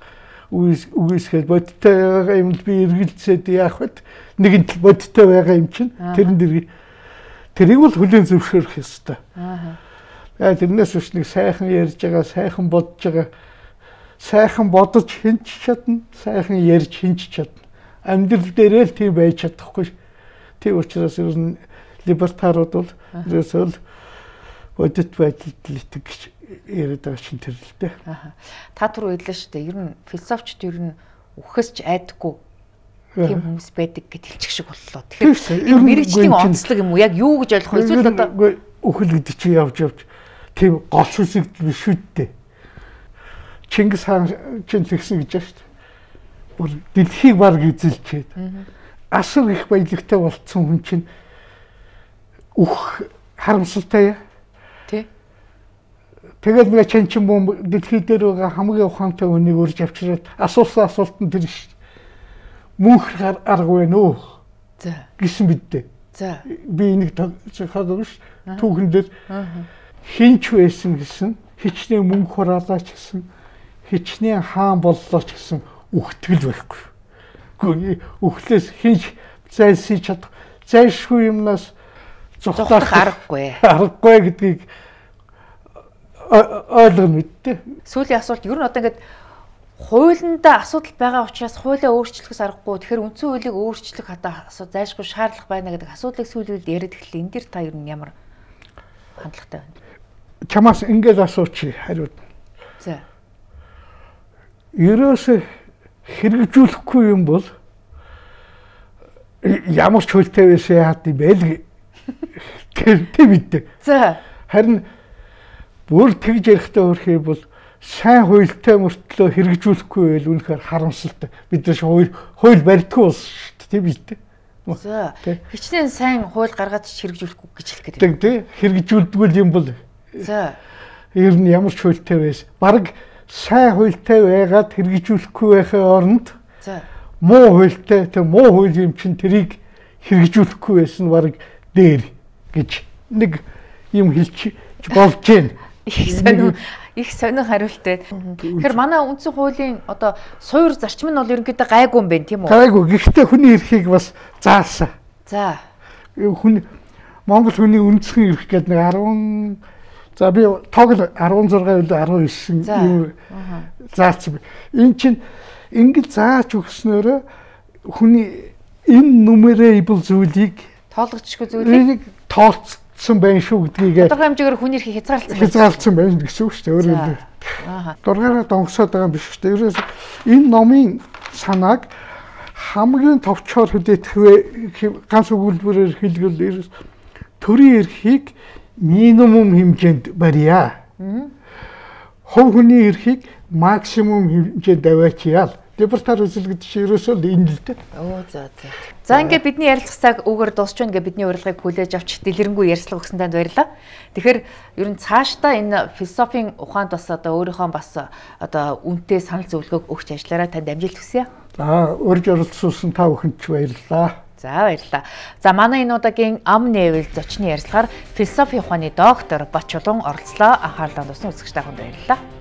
үгүйсгээд бодиттой байгаа юмд би эргэлзээд яах вэ? Нэгэнт л бодиттой байгаа юм чинь тэрийг бол хүлээн зөвшөөрөх ёстой. Тэрнээс биш нэг сайхан ярьж байгаа, сайхан бодож байгаа. Сайхан бодож хинч чадна, сайхан ярьж хинч чадна. Амьдрал дээрээ л тийм байж чадахгүй. Тийм учраас ер нь либертарууд бол ерөөсөө бодит байдалд л итгэж яриад байгаа чинь тэр л дээ. Та түр хэллээ шүү дээ. Ер нь философичд ер нь үхэс ч айдаггүй тийм хүмүүс байдаг гэж хэлчих шиг боллоо. Тэгэхээр энэ мэрэгжлийн онцлог юм уу? Яг юу гэж ойлгох вэ? Эсвэл одоо үхэл гэдэг чинь явж тийм гол сүсэг биш үү дээ. Чингис хаан чинь тэгсэн гэж байна шүү дээ. Бүр дэлхийг баг эзэлчихэд асар их баялагтай болцсон хүн чинь харамсалтай яа. Тий. Тэгээд нэг чанчин бомб дэлхий дээр байгаа хамгийн ухаантай хүнийг урьж авчираад асуусан асуултанд тэр шүү. Мөнх арга байна уу? За. Гэсэн бидтэй. За. Би энийг хаадаг ш. Түүхэн дээр хинч байсан гэсэн, хичнээн мөнгө хураалаач гэсэн, хичнээн хаан боллоо ч гэсэн үхтгэл байхгүй. Гэхдээ үхлээс хинч зайлсхий чадах, зайлшгүй юмнаас зогсох аргагүй. Аргагүй гэдгийг ойлгоно мэдтээ. Сүүлийн асуулт ер нь одоо ингээд хуулиндаа асуудал байгаа учраас хуулиа өөрчлөхөөс аргагүй. Тэгэхээр үндсэн хуулийг өөрчлөх одоо зайлшгүй шаардлага байна гэдэг асуудлыг сүүлд яриад эхэллээ. Энэ дэр та ер нь ямар хандлагатай байна? Чамаас ингээд асуучих хариуд. За. Ерөөсөө хэрэгжүүлэхгүй юм бол ямар ч хуультай байсан яад юм бэ л тийм мэдээ. За. Харин бүр тэгж ярихдаа өөрхий бол сайн хуультай мөртлөө хэрэгжүүлэхгүй байл үнэхээр харамсалтай. Бид нар хууль барьдаггүй улс шүү дээ, тийм биз дээ. За. Хичнээн сайн хууль гаргаад хэрэгжүүлэхгүй гэж хэлэх гэдэг. Тэг хэрэгжүүлдэггүй юм бол. За. Ер нь ямар ч хуультай байс. Бараг сайн хуультай байгаад хэрэгжүүлэхгүй байхын оронд. За. Муу хуультай, тэг муу хууль юм чин тэрийг хэрэгжүүлэхгүй байсан бараг дээр гэж нэг юм хэлж болж байна. Их сонин хариулттай. Тэгэхээр манай үндсэн хуулийн одоо суур зарчим нь бол ерөнхийдөө гайгүй юм байна тийм үү? Гайгүй. Гэхдээ хүний эрхийг бас заасан. За. Монгол хүний үндсэн эрх гэдэг нэг 10 за би тоог 16 19 юм заасан. Энэ чинь ингэж зааж өгснөөрөө хүний энэ numerable зүйлийг тоологчгүй зүйлийг тооцсон байна шүү гэдгийг тодорхой хэмжээгээр хүний эрхийг хязгаарласан байна гэсэн үг шүү дээ. Өөрөөр хэлбэл дургаараа донгосоод байгаа юм биш шүү дээ. Ерөөс энэ номын санааг хамгийн товчоор хүлээх ганц өгүүлбэрээр хэлбэл ерөөс төрийн эрхийг минимум хэмжээнд барья. Хувь хүний эрхийг максимум хэмжээнд аваачаал. Либертар үзэл гэдэг чинь ерөөсөө энэ л дээ. За. За ингээд бидний ярилцах цаг өгөр дуусч байна гэж бидний урилгыг хүлээж авч дэлгэрэнгүй ярилцлага өгсөн танд баярлалаа. Тэгэхээр ер нь цаашдаа энэ философийн ухаанд бас одоо өөрийнхөө бас одоо үнэтэй санал зөвлөгөөг өгч ажиллаарай, танд амжилт хүсье. За урьж оролцуулсан та бүхэнд ч баярлалаа. За баярлалаа. За манай энэ удаагийн ам нээвэл зочны ярилцлагаар философи ухааны доктор Бачулан оролцлоо. Анхаарлаа туссан үзэгч та бүхэнд баярлалаа.